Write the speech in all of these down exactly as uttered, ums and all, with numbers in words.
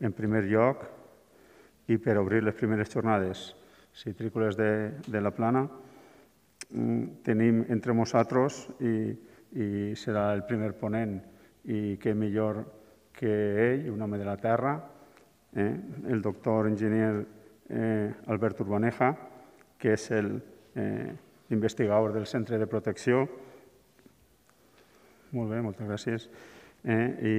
en primer lloc i per obrir les primeres jornades citrícoles de, de la Plana tenim entre nosaltres i, i serà el primer ponent i què millor que ell, un home de la terra, eh, el doctor enginyer eh, Albert Urbaneja, que és el eh, investigador del Centre de Protecció. Molt bé, moltes gràcies. Eh, i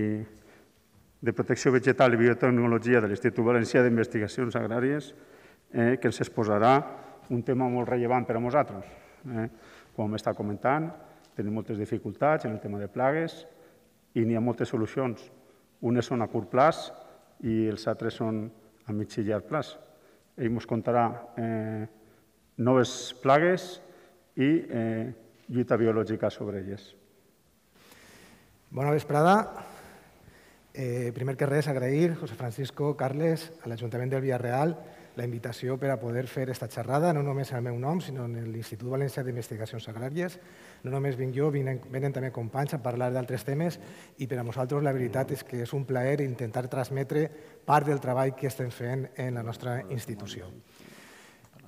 de Protecció Vegetal i Biotecnologia de l'Institut Valencià d'Investigacions Agràries, eh, que ens exposarà un tema molt rellevant per a nosaltres. Eh? Com m'està comentant, tenim moltes dificultats en el tema de plagues i n'hi ha moltes solucions. Unes són a curt plaç i els altres són a mig i llarg plaç. Ell ens contarà eh, noves plagues i eh, lluita biològica sobre elles. Bona vesprada. Eh, primer que res, agrair, José Francisco, Carles, a l'Ajuntament del Villarreal, la invitació per a poder fer aquesta xerrada, no només en el meu nom, sinó en l'Institut Valencià d'Investigacions Agràries. No només vinc jo, venen, venen també companys a parlar d'altres temes i per a nosaltres la veritat és que és un plaer intentar transmetre part del treball que estem fent en la nostra institució.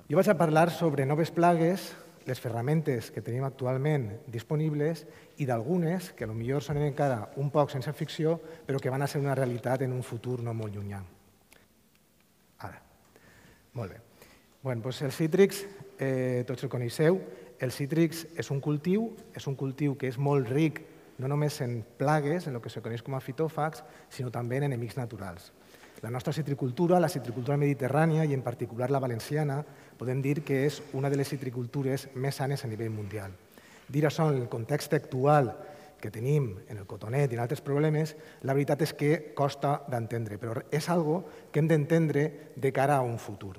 Jo vaig a parlar sobre noves plagues, les ferramentes que tenim actualment disponibles i d'algunes que potser són encara un poc sense ficció, però que van a ser una realitat en un futur no molt llunyà. Ara. Molt bé. Bueno, doncs els cítrics, eh, tots el coneixeu. El cítrics és un cultiu, és un cultiu que és molt ric no només en plagues, en el que se coneix com a fitòfags, sinó també en enemics naturals. La nostra citricultura, la citricultura mediterrània i en particular la valenciana, podem dir que és una de les citricultures més sanes a nivell mundial. Dir això en el context actual que tenim en el cotonet i en altres problemes, la veritat és que costa d'entendre, però és algo que hem d'entendre de cara a un futur.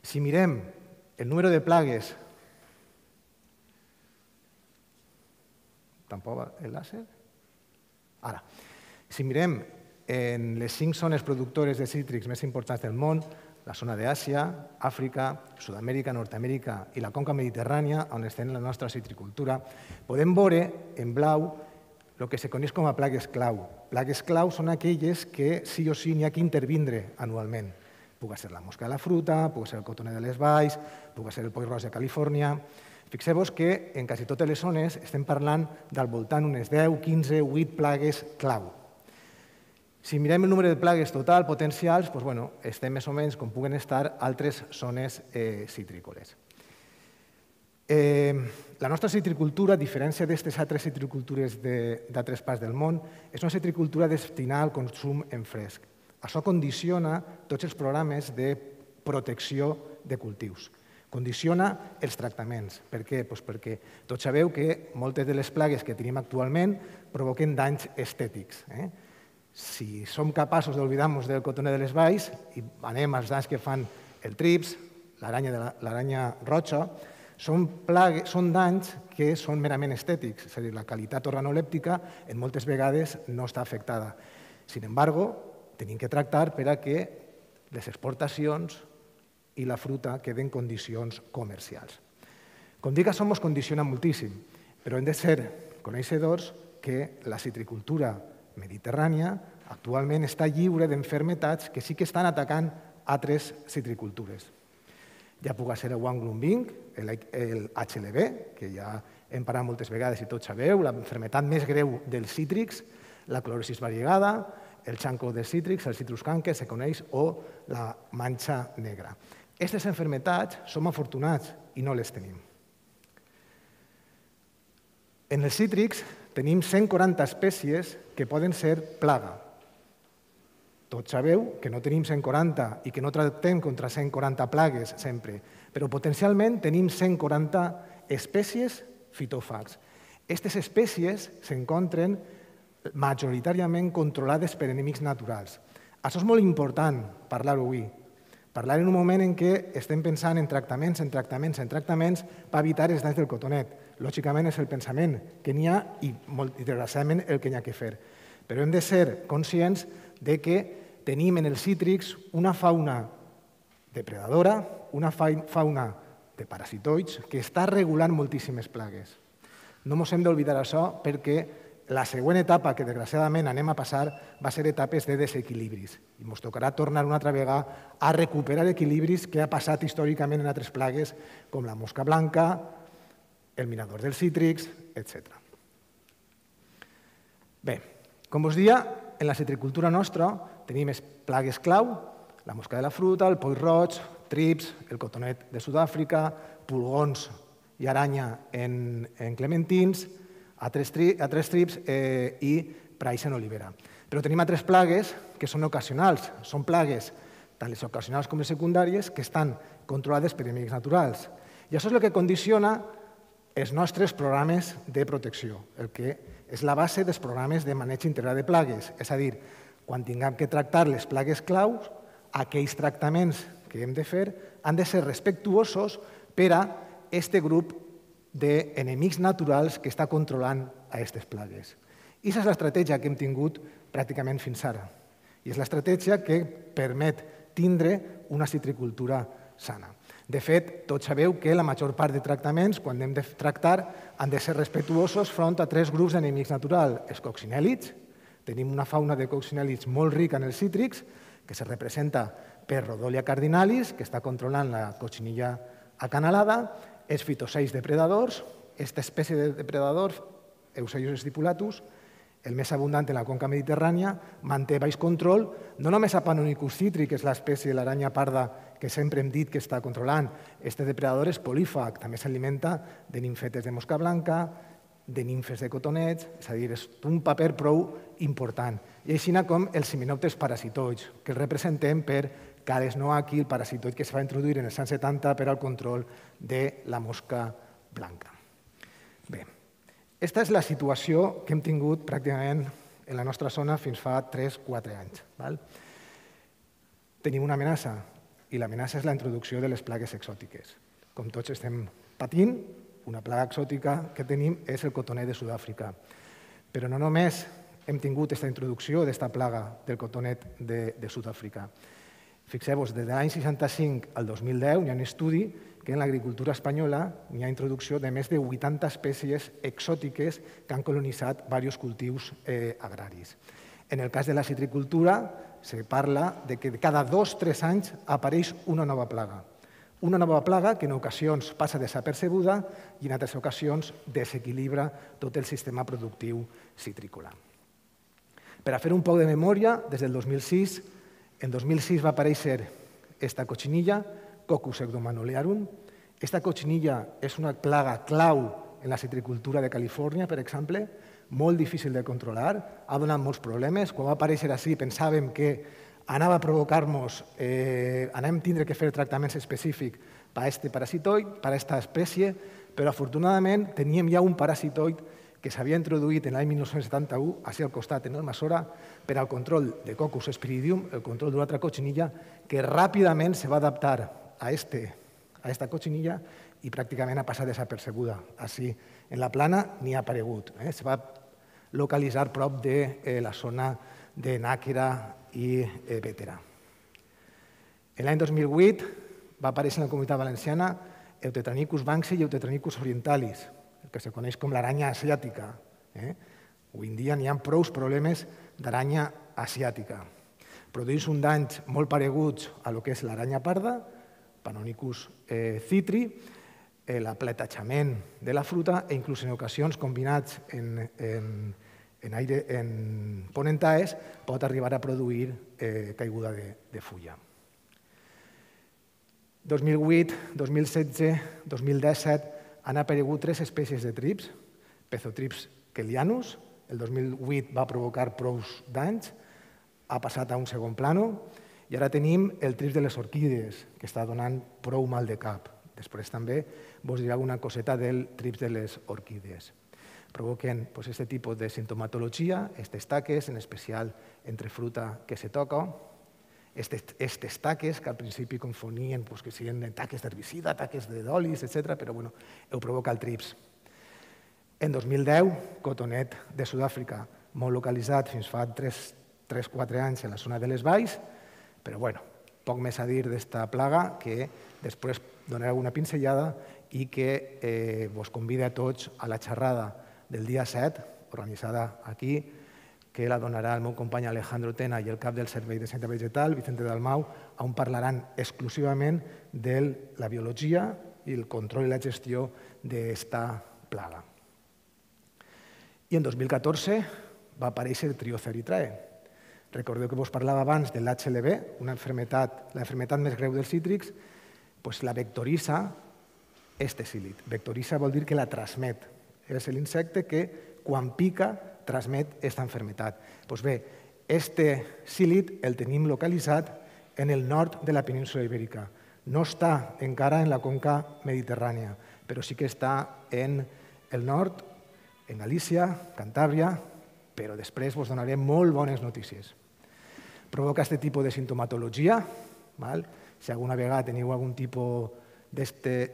Si mirem el número de plagues... Tampoc el làser? Ara. Si mirem en les cinc zones productores de cítrics més importants del món, la zona d'Àsia, Àfrica, Sud-amèrica, Nord-amèrica i la conca mediterrània, on estem la nostra citricultura, podem veure en blau el que se coneix com a plagues clau. Plagues clau són aquelles que sí o sí n'hi ha que intervindre anualment. Puga ser la mosca de la fruta, puga ser el cotoner de les valls, puga ser el poll roig de Califòrnia. Fixeu-vos que en quasi totes les zones estem parlant del voltant unes deu, quinze, vuit plagues clau. Si mirem el número de plagues total potencials, doncs, bueno, estem més o menys com puguen estar altres zones eh, citrícoles. Eh, la nostra citricultura, a diferència d'aquestes altres citricultures d'altres parts del món, és una citricultura destinada al consum en fresc. Això condiciona tots els programes de protecció de cultius. Condiciona els tractaments. Per què? Doncs perquè tots sabeu que moltes de les plagues que tenim actualment provoquen danys estètics. Eh? Si som capaços d'oblidar-nos del cotoner de les valls i anem als danys que fan el trips, l'aranya roja, són, plagues, són danys que són merament estètics, és a dir, la qualitat organolèptica en moltes vegades no està afectada. Sin embargo, tenim que tractar per a que les exportacions i la fruta queden en condicions comercials. Com dic, això ens condiciona moltíssim, però hem de ser coneixedors que la citricultura mediterrània actualment està lliure d'enfermetats que sí que estan atacant altres citricultures. Ja puga ser el Wang-Lumbing, el H L V, que ja hem parlat moltes vegades i tots sabeu, la enfermetat més greu dels cítrics, la clorosis variegada, el xanco de cítrics, el citrus canker, se coneix, o la manxa negra. Aquestes enfermetats som afortunats i no les tenim. En els cítrics tenim cent quaranta espècies que poden ser plaga. Tots sabeu que no tenim cent quaranta i que no tractem contra cent quaranta plagues sempre, però potencialment tenim cent quaranta espècies fitòfags. Aquestes espècies s'encontren majoritàriament controlades per enemics naturals. Això és molt important parlar-ho avui. Parlar en un moment en què estem pensant en tractaments, en tractaments, en tractaments per evitar els danys del cotonet. Lògicament és el pensament que n'hi ha i, molt desgraciadament, el que n'hi ha que fer. Però hem de ser conscients de que tenim en els cítrics una fauna depredadora, una fauna de parasitoids que està regulant moltíssimes plagues. No ens hem d'oblidar això perquè la següent etapa que desgraciadament anem a passar va ser etapes de desequilibris i ens tocarà tornar una altra vegada a recuperar equilibris que ha passat històricament en altres plagues com la mosca blanca, el mirador dels cítrics, etcètera. Bé, com us deia, en la citricultura nostra tenim plagues clau, la mosca de la fruta, el poll roig, trips, el cotonet de Sud-àfrica, pulgons i aranya en, en clementins, altres, tri, altres trips eh, i praix en olivera. Però tenim altres plagues que són ocasionals. Són plagues, tant les ocasionals com les secundàries, que estan controlades per enemics naturals. I això és el que condiciona els nostres programes de protecció, el que és la base dels programes de maneig integral de plagues. És a dir, quan tinguem que tractar les plagues claus, aquells tractaments que hem de fer han de ser respectuosos per a aquest grup d'enemics naturals que està controlant a aquestes plagues. I aquesta és l'estratègia que hem tingut pràcticament fins ara. I és l'estratègia que permet tindre una citricultura sana. De fet, tots sabeu que la major part de tractaments, quan hem de tractar, han de ser respectuosos front a tres grups d'enemics naturals. Els coccinèlids, tenim una fauna de coccinèlids molt rica en els cítrics, que se representa per Rhodolia cardinalis, que està controlant la cochinilla acanalada, els fitoseis depredadors, aquesta espècie de depredadors, Euseius stipulatus, el més abundant en la conca mediterrània, manté baix control, no només a Panonicus citri, que és l'espècie de l'aranya parda que sempre hem dit que està controlant. Este depredador és polífag, també s'alimenta de nimfetes de mosca blanca, de nimfes de cotonets, és a dir, és un paper prou important. I així com els himenòpters parasitoids, que els representem per Cales noachi, el parasitoid que es va introduir en els anys setanta per al control de la mosca blanca. Bé, aquesta és la situació que hem tingut pràcticament en la nostra zona fins fa tres o quatre anys. Tenim una amenaça, i l'amenaça és la introducció de les plagues exòtiques. Com tots estem patint, una plaga exòtica que tenim és el cotonet de Sud-àfrica. Però no només hem tingut aquesta introducció d'aquesta plaga del cotonet de, de Sud-àfrica. Fixeu-vos, des de l'any seixanta-cinc al dos mil deu hi ha un estudi que en l'agricultura espanyola hi ha introducció de més de vuitanta espècies exòtiques que han colonitzat diversos cultius eh, agraris. En el cas de la citricultura, se parla de que cada dos o tres anys apareix una nova plaga. Una nova plaga que en ocasions passa desapercebuda i en altres ocasions desequilibra tot el sistema productiu citrícola. Per a fer un poc de memòria, des del dos mil sis, en dos mil sis va aparèixer esta cochinilla, Coccus hebdomanolearum. Esta cochinilla és una plaga clau en la citricultura de Califòrnia, per exemple, molt difícil de controlar, ha donat molts problemes. Quan va aparèixer així pensàvem que anava a provocar-nos, eh, anem a tindre que fer tractaments específics per a aquest parasitoid, per a aquesta espècie, però afortunadament teníem ja un parasitoid que s'havia introduït en l'any mil nou-cents setanta-u, així al costat, en Almassora, per al control de Coccus spiridium, el control d'una altra cochinilla, que ràpidament se va adaptar a aquesta cochinilla i pràcticament ha passat desapercebuda. Així, en la plana ni ha aparegut. Se va localitzar prop de la zona de Nàquera i Bétera. L'any dos mil vuit va aparèixer en la Comunitat Valenciana Eutetranicus banksi i Eutetranicus orientalis, el que se coneix com l'aranya asiàtica. Avui en dia n'hi ha prou problemes d'aranya asiàtica. Produeix un danys molt pareguts a lo que és l'aranya parda, Panonicus citri, l'apletachament de la fruta i inclús en ocasions combinats en, en, en, aire, en ponentaes pot arribar a produir eh, caiguda de, de fulla. dos mil vuit, dos mil setze, dos mil disset han aparegut tres espècies de trips, Pezotrips kellianus, el dos mil vuit va provocar prous danys, ha passat a un segon plano, i ara tenim el trips de les orquídees, que està donant prou mal de cap. Després també vos diré alguna coseta del trips de les orquídees. Provoquen aquest tipus de sintomatologia, aquestes taques, en especial entre fruta que se toca, aquestes taques que al principi confonien que siguin taques d'herbicida, taques d'olis, etcètera, però ho provoca el trips. En dos mil deu, cotonet de Sud-àfrica, molt localitzat fins fa tres o quatre anys en la zona de les valls, però bueno, poc més a dir d'esta plaga que després donaré alguna pinzellada i que vos convida a tots a la xerrada del dia set organitzada aquí, que la donarà el meu company Alejandro Tena i el cap del Servei de Sanitat Vegetal, Vicente Dalmau, on parlaran exclusivament de la biologia i el control i la gestió d'esta plaga. I en dos mil catorze va aparèixer Trioza erythrae. Recordeu que vos parlava abans de l'H L V, una enfermetat, la enfermetat més greu dels cítrics, doncs la vectoritza este psílid. Vectoritza vol dir que la transmet. És l'insecte que, quan pica, transmet aquesta enfermetat. Doncs bé, este psílid el tenim localitzat en el nord de la península ibèrica. No està encara en la conca mediterrània, però sí que està en el nord, en Galícia, Cantàbria, però després vos donaré molt bones notícies. Provoca aquest tipus de sintomatologia. Si alguna vegada teniu algun tipus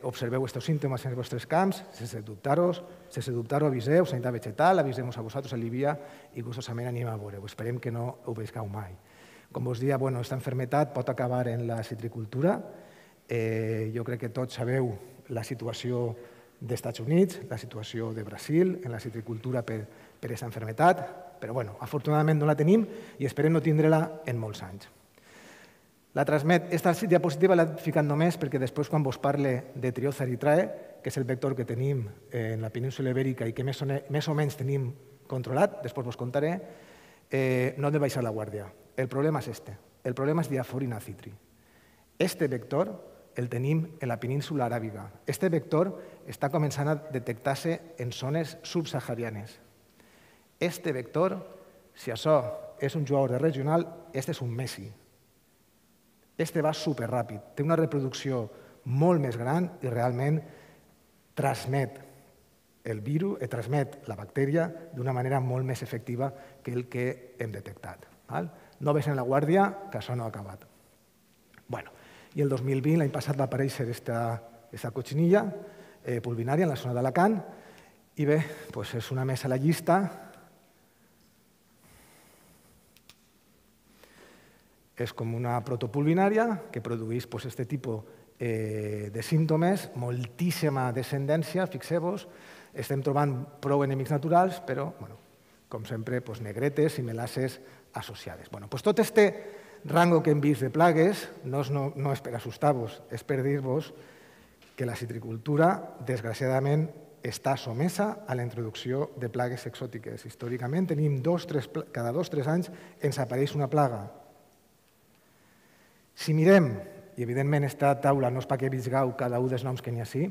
observeu aquests símptomes en els vostres camps, sense dubtar-ho, sense dubtar-ho, aviseu, Sanitat Vegetal, avisem-vos a vosaltres, a l'I V I A, i gustosament anem a veure-ho. Esperem que no ho veiscau mai. Com vos dia, aquesta enfermetat pot acabar en la citricultura. Jo crec que tots sabeu la situació dels Estats Units, la situació de Brasil, en la citricultura per aquesta enfermetat, però afortunadament no la tenim i esperem no tindre-la en molts anys. La transmet, aquesta diapositiva l'he ficat només perquè després quan vos parle de Trioza erythrae, que és el vector que tenim en la península ibèrica i que més o menys tenim controlat, després vos contaré, no hem de baixar la guàrdia. El problema és este, el problema és Diaphorina citri. Este vector el tenim en la península aràbiga. Este vector està començant a detectar-se en zones subsaharianes. Este vector, si això és un jugador de regional, este és un Messi. Este va superràpid, té una reproducció molt més gran i realment transmet el virus, transmet la bactèria d'una manera molt més efectiva que el que hem detectat. No baixem la guàrdia, que això no ha acabat. I el dos mil vint, l'any passat, va aparèixer aquesta cotxinilla pulvinària en la zona d'Alacant i bé, és una més a la llista. És com una protopulvinària que produeix aquest tipus de símptomes, moltíssima descendència, fixeu-vos, estem trobant prou enemics naturals, però, com sempre, negretes i melasses associades. Tot aquest rango que hem vist de plagues no és per assustar-vos, és per dir-vos que la citricultura, desgraciadament, està sotmesa a la introducció de plagues exòtiques. Històricament, tenim cada dos o tres anys ens apareix una plaga. Si mirem, i evidentment aquesta taula no és perquè visgueu cada un dels noms que n'hi ha així,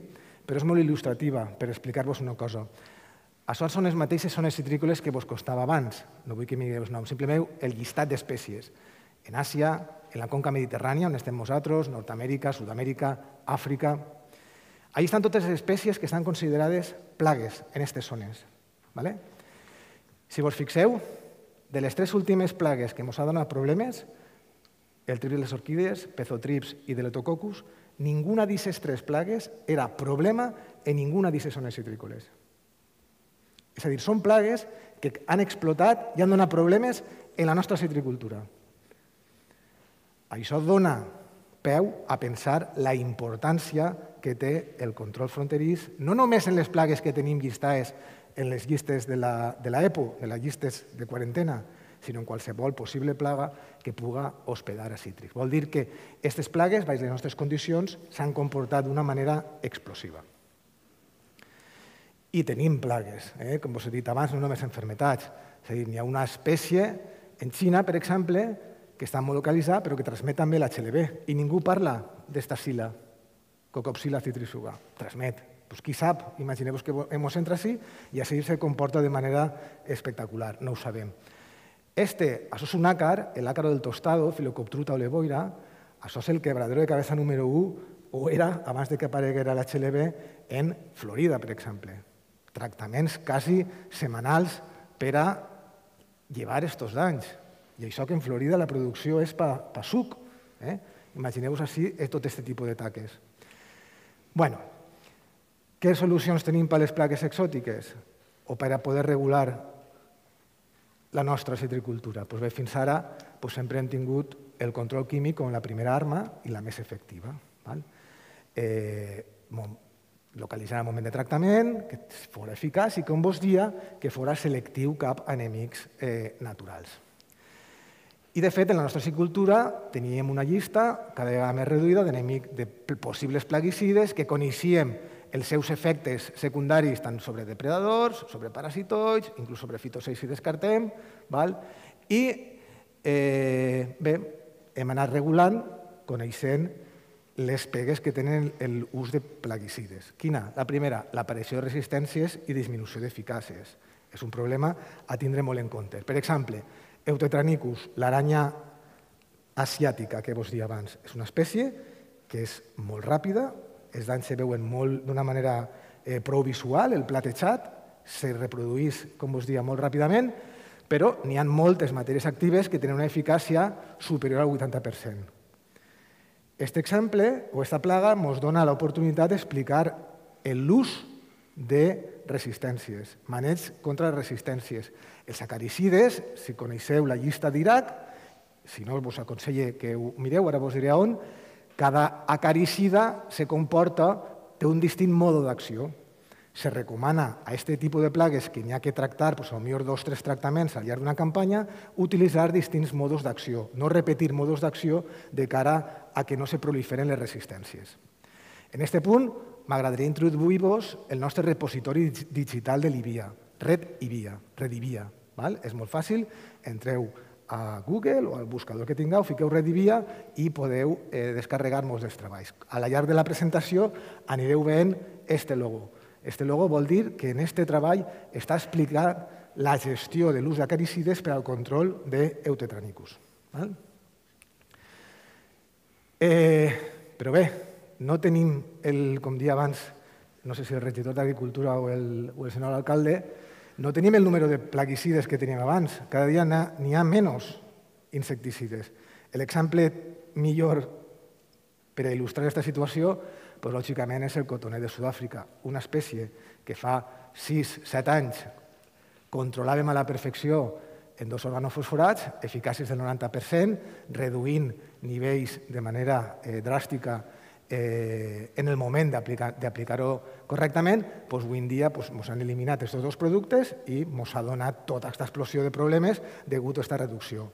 però és molt il·lustrativa per explicar-vos una cosa. Això són les mateixes zones citrícoles que vos costava abans, no vull que mireu els noms, simplement el llistat d'espècies. En Àsia, en la conca mediterrània, on estem nosaltres, Nord-Amèrica, Sud-Amèrica, Àfrica. Allà estan totes les espècies que estan considerades plagues en aquestes zones. Si vos fixeu, de les tres últimes plagues que ens han donat problemes, el trips de les orquídees, pezotrips i deletococcus, ninguna d'aquestes tres plagues era problema en ninguna d'aquestes zones citrícoles. És a dir, són plagues que han explotat i han donat problemes en la nostra citricultura. Això dona peu a pensar la importància que té el control fronterís, no només en les plagues que tenim llistades en les llistes de l'EPO, de les llistes de quarantena, sinó en qualsevol possible plaga que puga hospedar a cítrics. Vol dir que aquestes plagues, baix les nostres condicions, s'han comportat d'una manera explosiva. I tenim plagues, com us he dit abans, no només enfermetats. És a dir, hi ha una espècie en Xina, per exemple, que està molt localitzada, però que transmet també l'H L V. I ningú parla d'esta psila, Cocopsila citrisuga. Transmet. Qui sap, imagineu-vos que ens entra així i així se comporta de manera espectacular. No ho sabem. Este, això és un àcar, el ácaro del tostado, Phyllocoптруta olevoira, això és el quebradero de cabeza número u, o era, abans que apareguera l'H L V, en Florida, per exemple. Tractaments quasi setmanals per a llevar aquests danys. I això que en Florida la producció és per suc. Imagineu-vos així tot aquest tipus de taques. Bé, què solucions tenim per a les plagues exòtiques o per a poder regular la nostra citricultura? Doncs bé, fins ara sempre hem tingut el control químic com la primera arma i la més efectiva. localitzar el moment de tractament, que fos eficaç i, com vos dia, que fos selectiu cap a enemics naturals. I, de fet, en la nostra agricultura teníem una llista cada vegada més reduïda de possibles plaguicides que coneixíem els seus efectes secundaris tant sobre depredadors, sobre parasitoids, inclús sobre fitocides si descartem, i bé, hem anat regulant, coneixent les pegues que tenen l'ús de plaguicides. Quina? La primera, l'aparició de resistències i disminució d'eficàcies. És un problema a tindre molt en compte. Per exemple, Eutetranicus, l'aranya asiàtica que vos dia abans, és una espècie que és molt ràpida, els danys se veuen d'una manera prou visual, el platejat, se reprodueix, com vos dia, molt ràpidament, però n'hi ha moltes matèries actives que tenen una eficàcia superior al vuitanta per cent. Aquest exemple o aquesta plaga ens dona l'oportunitat d'explicar l'ús de resistències, maneig contra les resistències. Els acaricides, si coneixeu la llista d'Iraq, si no vos aconselle que ho mireu, ara vos diré on, cada acaricida se comporta, té un distint mode d'acció. Se recomana a aquest tipus de plagues que n'hi ha que tractar, potser dos o tres tractaments al llarg d'una campanya, utilitzar distints modes d'acció, no repetir modes d'acció de cara a que no se proliferen les resistències. En aquest punt, m'agradaria introduir-vos el nostre repositori digital de l'I V I A, Red I V I A, Red I V I A. És molt fàcil, entreu a Google o al buscador que tingueu, fiqueu Red I V I A i podeu descarregar molts dels treballs. A la llarg de la presentació anireu veient aquest logo. Aquest logo vol dir que en aquest treball està explicant la gestió de l'ús d'acaricides per al control d'Eutetranicus. Però bé, no tenim, com dia abans, no sé si el regidor d'Agricultura o el senyor alcalde, no tenim el número de plaguicides que teníem abans. Cada dia n'hi ha menys insecticides. L'exemple millor per a il·lustrar aquesta situació, lògicament, és el cotoner de Sud-àfrica, una espècie que fa sis a set anys controlàvem a la perfecció en dos organofosforats, eficàcies del noranta per cent, reduint nivells de manera dràstica en el moment d'aplicar-ho correctament. Avui en dia ens han eliminat aquests dos productes i ens ha donat tota aquesta explosió de problemes degut a aquesta reducció.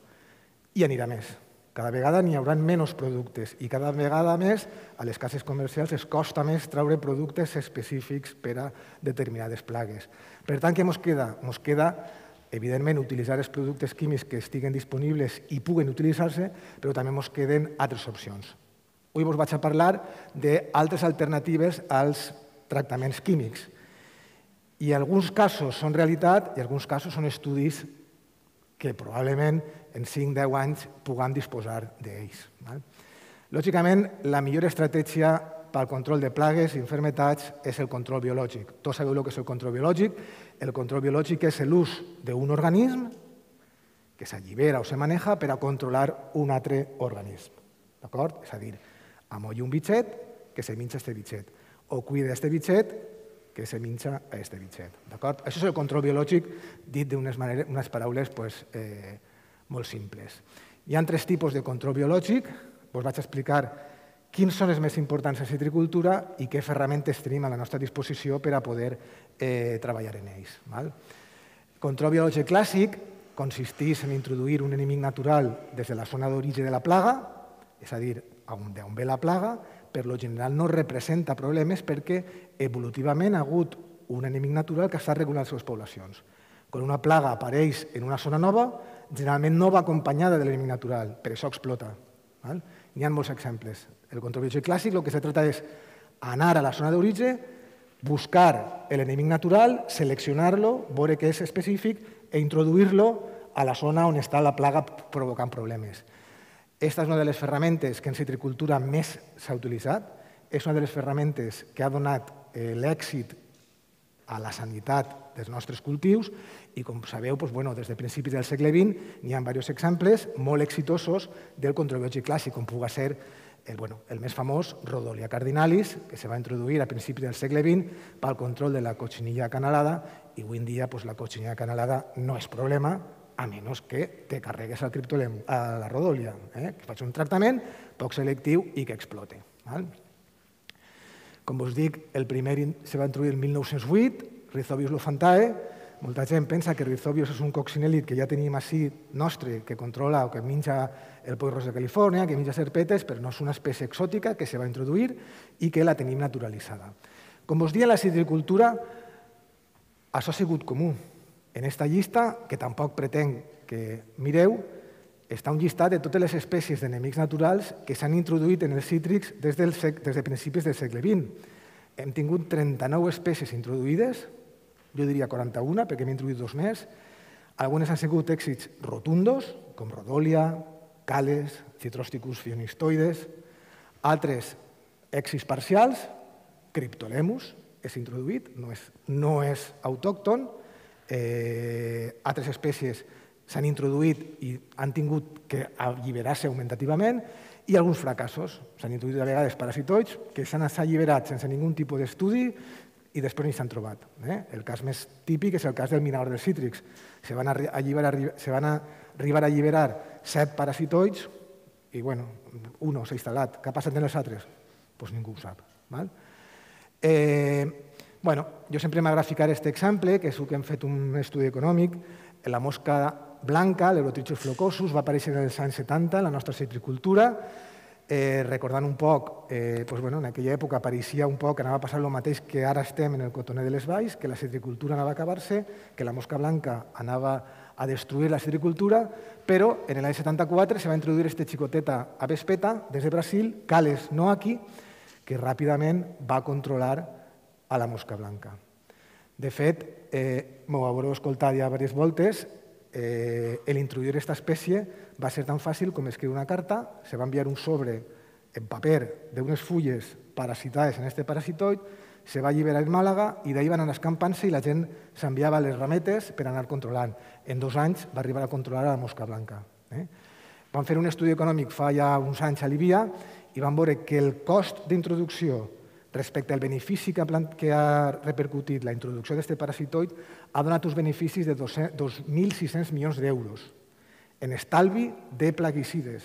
I anirà més. Cada vegada n'hi haurà menys productes i cada vegada més a les cases comercials es costa més treure productes específics per a determinades plagues. Per tant, què ens queda? Ens queda, evidentment, utilitzar els productes químics que estiguen disponibles i puguen utilitzar-se, però també ens queden altres opcions. Avui us vaig a parlar d'altres alternatives als tractaments químics. I alguns casos són realitat i alguns casos són estudis que probablement en cinc a deu anys puguem disposar d'ells. Lògicament, la millor estratègia pel control de plagues i malalties és el control biològic. Tots sabeu el que és el control biològic. El control biològic és l'ús d'un organisme que s'allibera o se maneja per a controlar un altre organisme. És a dir, amollo un bitxet que se minxa aquest bitxet o cuida aquest bitxet que se minxa a aquest bitxet. Això és el control biològic dit d'unes paraules molt simples. Hi ha tres tipus de control biològic. Us vaig explicar quins són els més importants en la citricultura i què ferramentes tenim a la nostra disposició per a poder treballar en ells. El control biològic clàssic consisteix en introduir un enemic natural des de la zona d'origen de la plaga, és a dir, d'on ve la plaga, per lo general no representa problemes perquè evolutivament ha hagut un enemic natural que està regulant les seves poblacions. Quan una plaga apareix en una zona nova, generalment no va acompanyada de l'enemic natural, per això explota. N'hi ha molts exemples. El control biològic clàssic el que se trata és anar a la zona d'origen, buscar l'enemic natural, seleccionar-lo, veure què és específic i introduir-lo a la zona on està la plaga provocant problemes. Aquesta és una de les ferramentes que en citricultura més s'ha utilitzat, és una de les ferramentes que ha donat l'èxit a la sanitat dels nostres cultius i, com sabeu, des de principis del segle vint n'hi ha diversos exemples molt exitosos del control biològic clàssic, com pugui ser el més famós, Rhodolia cardinalis, que se va introduir a principis del segle vint pel control de la cochinilla acanalada i avui en dia la cochinilla acanalada no és problema, a menys que te carregues el criptolem a la Rhodolia, que faig un tractament poc selectiu i que explote. Com us dic, el primer se va introduir el mil nou-cents vuit, Rhizobius lophantae. Molta gent pensa que Rhizobius és un coccinèlid que ja tenim així nostre, que controla o que menja el poirros de Califòrnia, que menja serpetes, però no és una espècie exòtica que se va introduir i que la tenim naturalitzada. Com us dic, en la citricultura això ha sigut comú. En aquesta llista, que tampoc pretenc que mireu, està un llistat de totes les espècies d'enemics naturals que s'han introduït en els cítrics des, del sec, des de principis del segle vint. Hem tingut trenta-nou espècies introduïdes, jo diria quaranta-una, perquè hem introduït dos més. Algunes han sigut èxits rotundos, com Rhodolia, Cales, Citrosticus fionistoides. Altres èxits parcials, Cryptolemus, és introduït, no és, no és autòcton. Eh, altres espècies s'han introduït i han tingut que alliberar-se augmentativament, i alguns fracassos. S'han introduït a vegades parasitoids que s'han alliberat sense ningú tipus d'estudi i després ni s'han trobat. Eh? El cas més típic és el cas del minador dels cítrics. Se van, alliberar, se van arribar a alliberar set parasitoids i, bueno, un s'ha instal·lat. Què ha passat en els altres? Doncs ningú ho sap. Val? Eh, bueno, jo sempre m'agrada ficar aquest exemple, que és el que hem fet un estudi econòmic. La mosca blanca, l'Eurotrichus flocosus, va aparèixer en els anys setanta en la nostra citricultura. Eh, recordant un poc, eh, doncs, bueno, en aquella època apareixia un poc que anava a passar el mateix que ara estem en el cotoner de les valls, que la citricultura anava a acabar-se, que la mosca blanca anava a destruir la citricultura, però en l'any setanta-quatre se va introduir aquesta xicoteta avespeta des de Brasil, Cales noaki, que ràpidament va controlar a la mosca blanca. De fet, eh, m'ho haureu escoltat ja diverses voltes, eh, l'introduir aquesta espècie va ser tan fàcil com escriure una carta, se va enviar un sobre en paper d'unes fulles parasitades en aquest parasitoid, se va alliberar en Màlaga i d'ahir van anar escampant-se i la gent s'enviava les rametes per anar controlant. En dos anys va arribar a controlar la mosca blanca. Eh? Van fer un estudi econòmic fa ja uns anys a Líbia i van veure que el cost d'introducció respecte al benefici que ha, que ha repercutit la introducció d'aquest parasitoid ha donat uns beneficis de dos mil sis-cents milions d'euros en estalvi de plaguicides.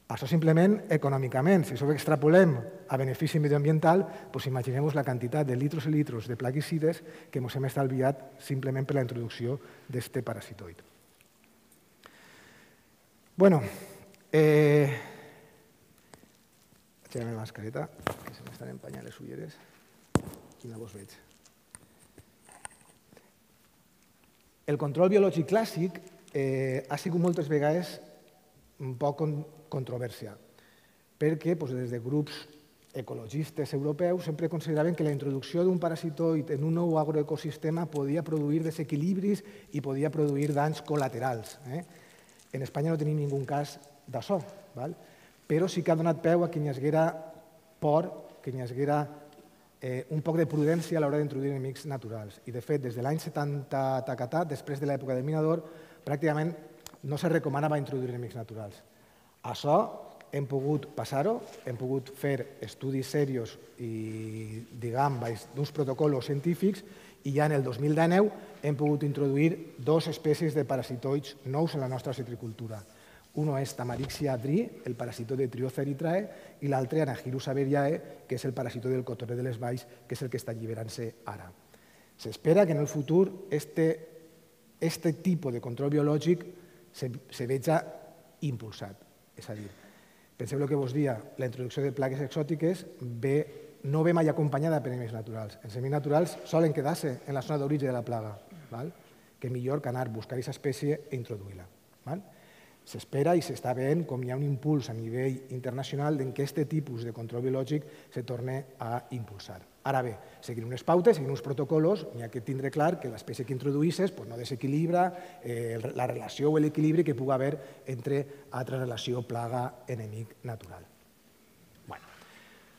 Això simplement econòmicament. Si això ho extrapolem a benefici medioambiental, doncs imaginem-vos la quantitat de litros i litros de plaguicides que ens hem estalviat simplement per la introducció d'aquest parasitoid. Bueno, eh... Vaig la mascareta, que se m'estan empanyant les ulleres i no vos veig. El control biològic clàssic eh, ha sigut moltes vegades un poc controvèrsia, perquè doncs, des de grups ecologistes europeus sempre consideraven que la introducció d'un parasitoid en un nou agroecosistema podia produir desequilibris i podia produir danys col·laterals. Eh? En Espanya no tenim ningú cas d'això, val? Però sí que ha donat peu a que hi haguera por, que hi haguera eh, un poc de prudència a l'hora d'introduir enemics naturals. I, de fet, des de l'any setanta tacatat, després de l'època del minador, pràcticament no se recomanava introduir enemics naturals. Això hem pogut passar-ho, hem pogut fer estudis serios i, diguem, d'uns protocols científics i ja en el dos mil dinou hem pogut introduir dues espècies de parasitoids nous en la nostra citricultura. Uno és Tamarixia adri, el parasitoide de Trioza erythrae, i l'altre Anagyrus averiae, que és el parasitoide del cotoner de les valls, que és el que està alliberant-se ara. S'espera que en el futur aquest tipus de control biològic se veja impulsat. És a dir, penseu el que vos dia, la introducció de plagues exòtiques no ve mai acompanyada per enemics naturals. Els enemics naturals solen quedar-se en la zona d'origen de la plaga, que millor que anar a buscar aquesta espècie i introduir-la. S'espera i s'està veient com hi ha un impuls a nivell internacional en què aquest tipus de control biològic se torna a impulsar. Ara bé, seguint unes pautes, seguint uns protocols, n'hi ha que tindre clar que l'espècie que introduïsses no desequilibra la relació o l'equilibri que pugui haver entre altra relació plaga-enemic natural.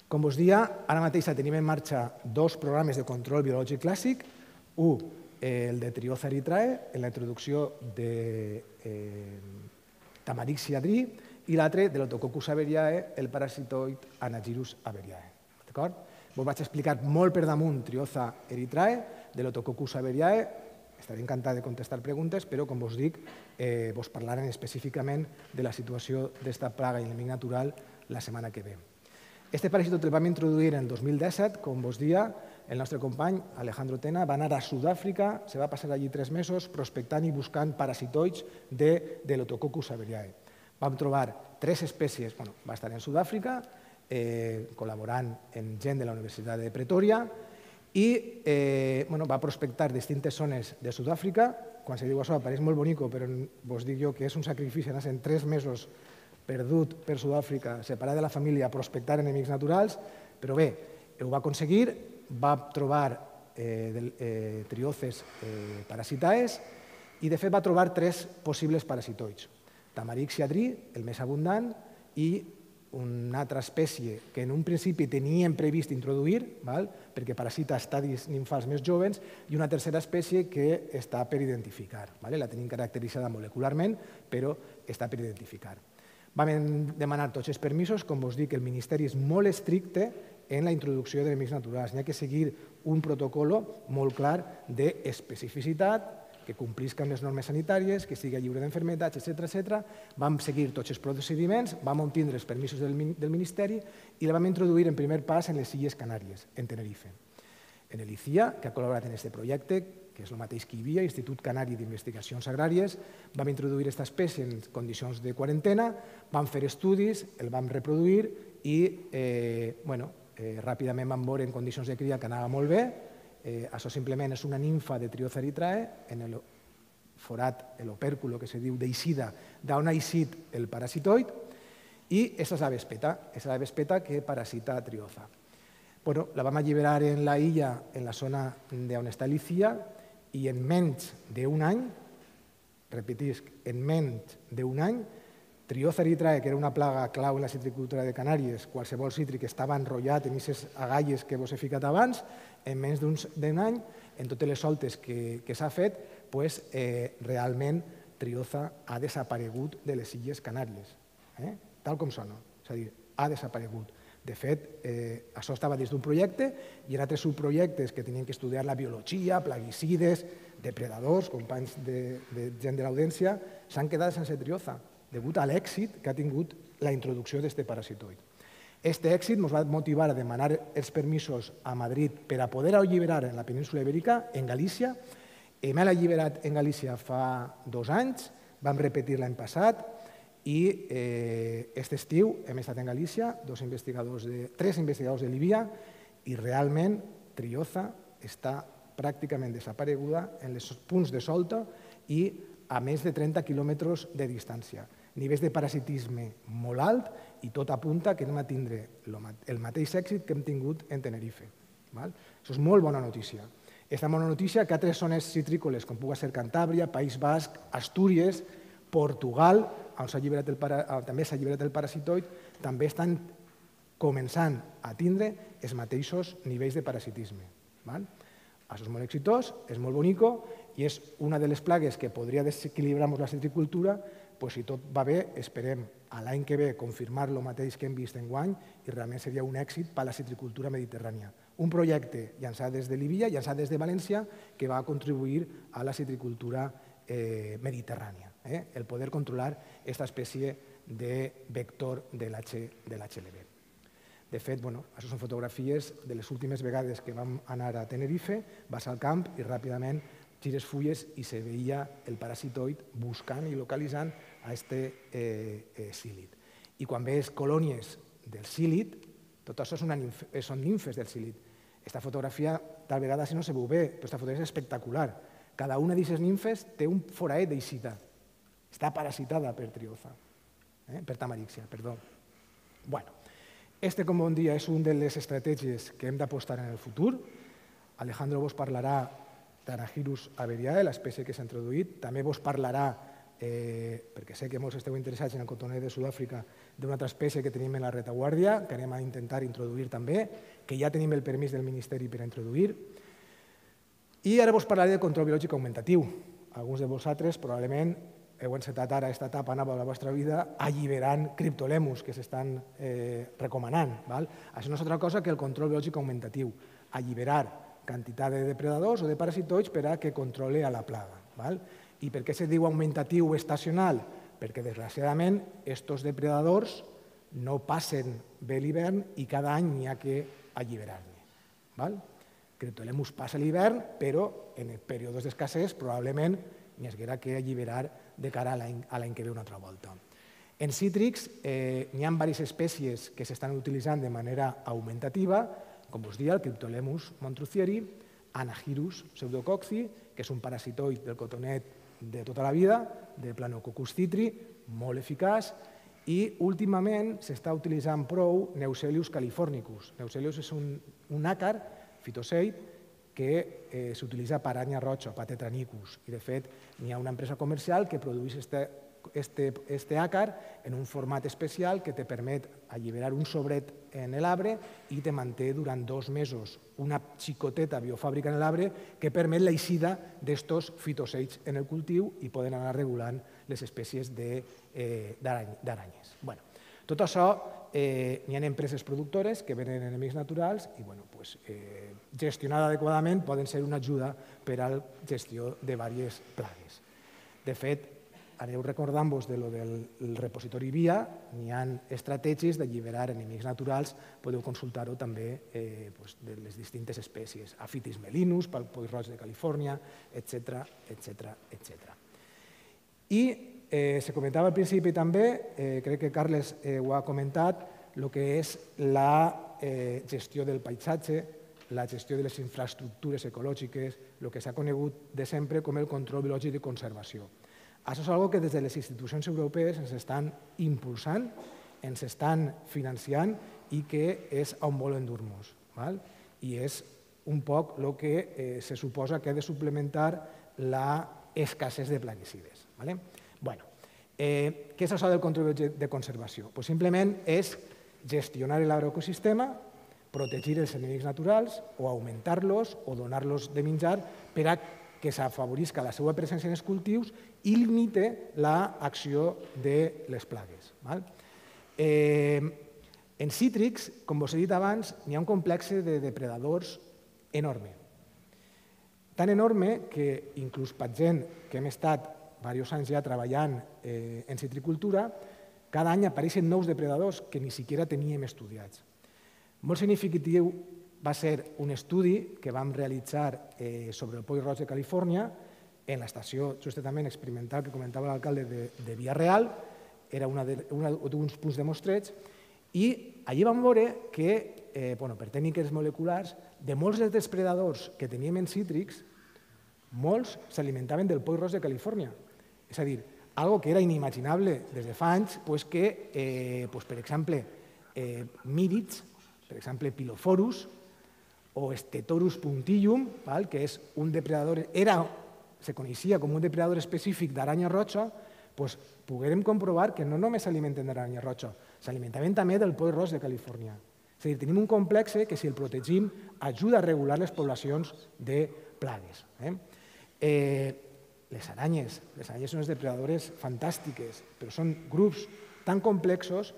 Com vos dia, ara mateix tenim en marxa dos programes de control biològic clàssic, un, el de Trioza erythrae, en la introducció de Tamarixia adri, i l'altre, de l'Otococcus averiae, el parasitoid Anagyrus averiae. Vos vaig explicar molt per damunt Trioza erythrae, de l'Otococcus averiae, estaré encantat de contestar preguntes, però, com vos dic, vos parlarem específicament de la situació d'esta plaga i enemic natural la setmana que ve. Este paràsitoid el vam introduir en el dos mil disset, com vos dia, el nostre company Alejandro Tena va anar a Sud-àfrica, se va passar allí tres mesos prospectant i buscant parasitoids de, de l'Otococcus saberiae. Vam trobar tres espècies, bueno, va estar en Sud-àfrica, eh, col·laborant amb gent de la Universitat de Pretòria i eh, bueno, va prospectar distintes zones de Sud-àfrica. Quan se diu això, pareix molt bonico, però vos dic jo que és un sacrifici anar en tres mesos perdut per Sud-àfrica, separat de la família, a prospectar enemics naturals, però bé, ho va aconseguir, va trobar eh, del, eh, trioces eh, parasitaes i, de fet, va trobar tres possibles parasitoids. Tamarix siadri, el més abundant, i una altra espècie que en un principi teníem previst introduir, val? Perquè parasita estadis nimfals més joves, i una tercera espècie que està per identificar. Val? La tenim caracteritzada molecularment, però està per identificar. Vam demanar tots els permisos, com vos dic, el Ministeri és molt estricte en la introducció d'enemics naturals. N'hi ha que seguir un protocol molt clar d'especificitat, que complisca amb les normes sanitàries, que sigui lliure d'enfermetats, etcètera, etcètera. Vam seguir tots els procediments, vam obtindre els permisos del Ministeri i la vam introduir en primer pas en les Illes Canàries, en Tenerife. En el I C I A, que ha col·laborat en aquest projecte, que és el mateix que hi havia, Institut Canari d'Investigacions Agràries, vam introduir aquesta espècie en condicions de quarantena, vam fer estudis, el vam reproduir i eh, bueno, eh, ràpidament vam veure en condicions de cria que anava molt bé. Eh, això simplement és una nimfa de Trioza erythrae, en el forat, l'opèrculo que se diu d'eixida, d'on ha eixit el parasitoid, i aquesta és la vespeta, és la vespeta que parasita Trioza. Bueno, la vam alliberar en la illa, en la zona d'on està l'I C I A, i en menys d'un any, repetisc, en menys d'un any, Trioza erythrae, que era una plaga clau en la citricultura de Canàries, qualsevol cítric estava enrotllat en aquestes agalles que vos he ficat abans, en menys d'un any, en totes les soltes que, que s'ha fet, pues, eh, realment Trioza ha desaparegut de les Illes Canàries, eh? Tal com sona, és a dir, ha desaparegut. De fet, eh, això estava dins d'un projecte i en altres subprojectes que tenien que estudiar la biologia, plaguicides, depredadors, companys de, de gent de l'audiència, s'han quedat sense Trioza, degut a l'èxit que ha tingut la introducció d'aquest parasitoid. Aquest èxit ens va motivar a demanar els permisos a Madrid per a poder alliberar en la península Ibèrica, en Galícia. Hem alliberat en Galícia fa dos anys, vam repetir l'any passat, i aquest estiu hem estat en Galícia, dos investigadors de, tres investigadors de l'I B I A, i realment Trioza està pràcticament desapareguda en els punts de solta i a més de trenta quilòmetres de distància. Nivells de parasitisme molt alt i tot apunta que anem a tindre el mateix èxit que hem tingut en Tenerife. Això és molt bona notícia. Aquesta bona notícia que altres zones citrícoles, com pugui ser Cantàbria, País Basc, Astúries, Portugal, on el para, també s'ha alliberat el parasitoid, també estan començant a tindre els mateixos nivells de parasitisme. Val? Això és molt exitós, és molt bonico i és una de les plagues que podria desequilibrar la citricultura, pues, si tot va bé, esperem a l'any que ve confirmar el mateix que hem vist enguany i realment seria un èxit per a la citricultura mediterrània. Un projecte llançat des de l'I B I A, llançat des de València, que va contribuir a la citricultura eh, mediterrània. Eh? El poder controlar aquesta espècie de vector de l'H L V. De fet, bueno, això són fotografies de les últimes vegades que vam anar a Tenerife, vas al camp i ràpidament gires fulles i se veia el parasitoid buscant i localitzant a aquest eh, eh, psílid. I quan veus colònies del psílid, tot això són, són nimfes del psílid. Aquesta fotografia, tal vegada si no se veu bé, però aquesta fotografia és espectacular. Cada una d'aquestes nimfes té un foraet d'eixida. Està parasitada per Trioza, eh? per Tamarixia, perdó. Bueno, este, com bon dia, és una de les estratègies que hem d'apostar en el futur. Alejandro vos parlarà d'Anagyrus averiae, l'espècie que s'ha introduït. També vos parlarà, eh, perquè sé que molts esteu interessats en el cotoner de Sud-àfrica, d'una altra espècie que tenim en la retaguardia, que anem a intentar introduir també, que ja tenim el permís del Ministeri per a introduir. I ara vos parlaré de control biològic augmentatiu. Alguns de vosaltres probablement heu encetat ara aquesta etapa nova de la vostra vida alliberant criptolemus que s'estan eh, recomanant. Val? Això no és altra cosa que el control biològic augmentatiu, alliberar quantitat de depredadors o de parasitoids per a que controle a la plaga. Val? I per què se diu augmentatiu o estacional? Perquè, desgraciadament, aquests depredadors no passen bé l'hivern i cada any n'hi ha que alliberar-ne. Cryptolemus passa l'hivern, però en períodes d'escassez probablement n'hi haguera que alliberar de cara a l'any que ve una altra volta. En cítrics n'hi ha diverses espècies que s'estan utilitzant de manera augmentativa, com us deia, el Cryptolemus montruthieri, Anahirus pseudococci, que és un parasitoid del cotonet de tota la vida, de Planococcus citri, molt eficaç, i últimament s'està utilitzant prou Neuselius californicus. Neuselius és un àcar fitoseid que s'utilitza per aranya roja, per tetranicus, i de fet n'hi ha una empresa comercial que produeix este àcar en un format especial que te permet alliberar un sobret en l'arbre i te manté durant dos mesos una xicoteta biofàbrica en l'arbre que permet l'eixida d'estos fitoseids en el cultiu i poden anar regulant les espècies d'aranyes. Tot això, n'hi ha empreses productores que venen enemics naturals i gestionada adequadament poden ser una ajuda per a la gestió de diverses plagues. De fet, aneu recordant-vos del repositori V I A, n'hi ha estratègies d'alliberar enemics naturals, podeu consultar-ho també de les distintes espècies, Aphytis melinus, pel poll roig de Califòrnia, etcètera, etcètera, etcètera. I se comentava al principi també, crec que Carles ho ha comentat, el que és la gestió del paisatge, la gestió de les infraestructures ecològiques, el que s'ha conegut de sempre com el control biològic de conservació. Això és una cosa que des de les institucions europees ens estan impulsant, ens estan financiant i que és on volen dur-nos. I és un poc el que se suposa que ha de suplementar l'escassez de plaguicides. Què és això del control de conservació? Simplement és gestionar l'agroecosistema, protegir els enemics naturals o augmentar-los o donar-los de menjar per a que s'afavorisca la seva presència en els cultius i limite l'acció de les plagues. En cítrics, com us he dit abans, n'hi ha un complex de depredadors enorme. Tan enorme que inclús per gent que hem estat diversos anys ja treballant en citricultura, cada any apareixen nous depredadors que ni siquiera teníem estudiats. Molt significatiu va ser un estudi que vam realitzar sobre el poll roig de Califòrnia en l'estació justament experimental que comentava l'alcalde de Vila-real, era un dels punts de mostreig, i allí vam veure que, per tècniques moleculars, de molts dels depredadors que teníem en cítrics, molts s'alimentaven del poll roig de Califòrnia. És a dir, algo que era inimaginable des de fa anys, que, per exemple, mírids, per exemple, Pilophorus o Stetorus puntillum, que és un depredador, era, se coneixia com un depredador específic d'aranya roja, poguérem comprovar que no només s'alimenten d'aranya roja, s'alimentaven també del poll roig de Califòrnia. És a dir, tenim un complex que, si el protegim, ajuda a regular les poblacions de plagues. Les aranyes, les aranyes són unes depredadores fantàstiques, però són grups tan complexos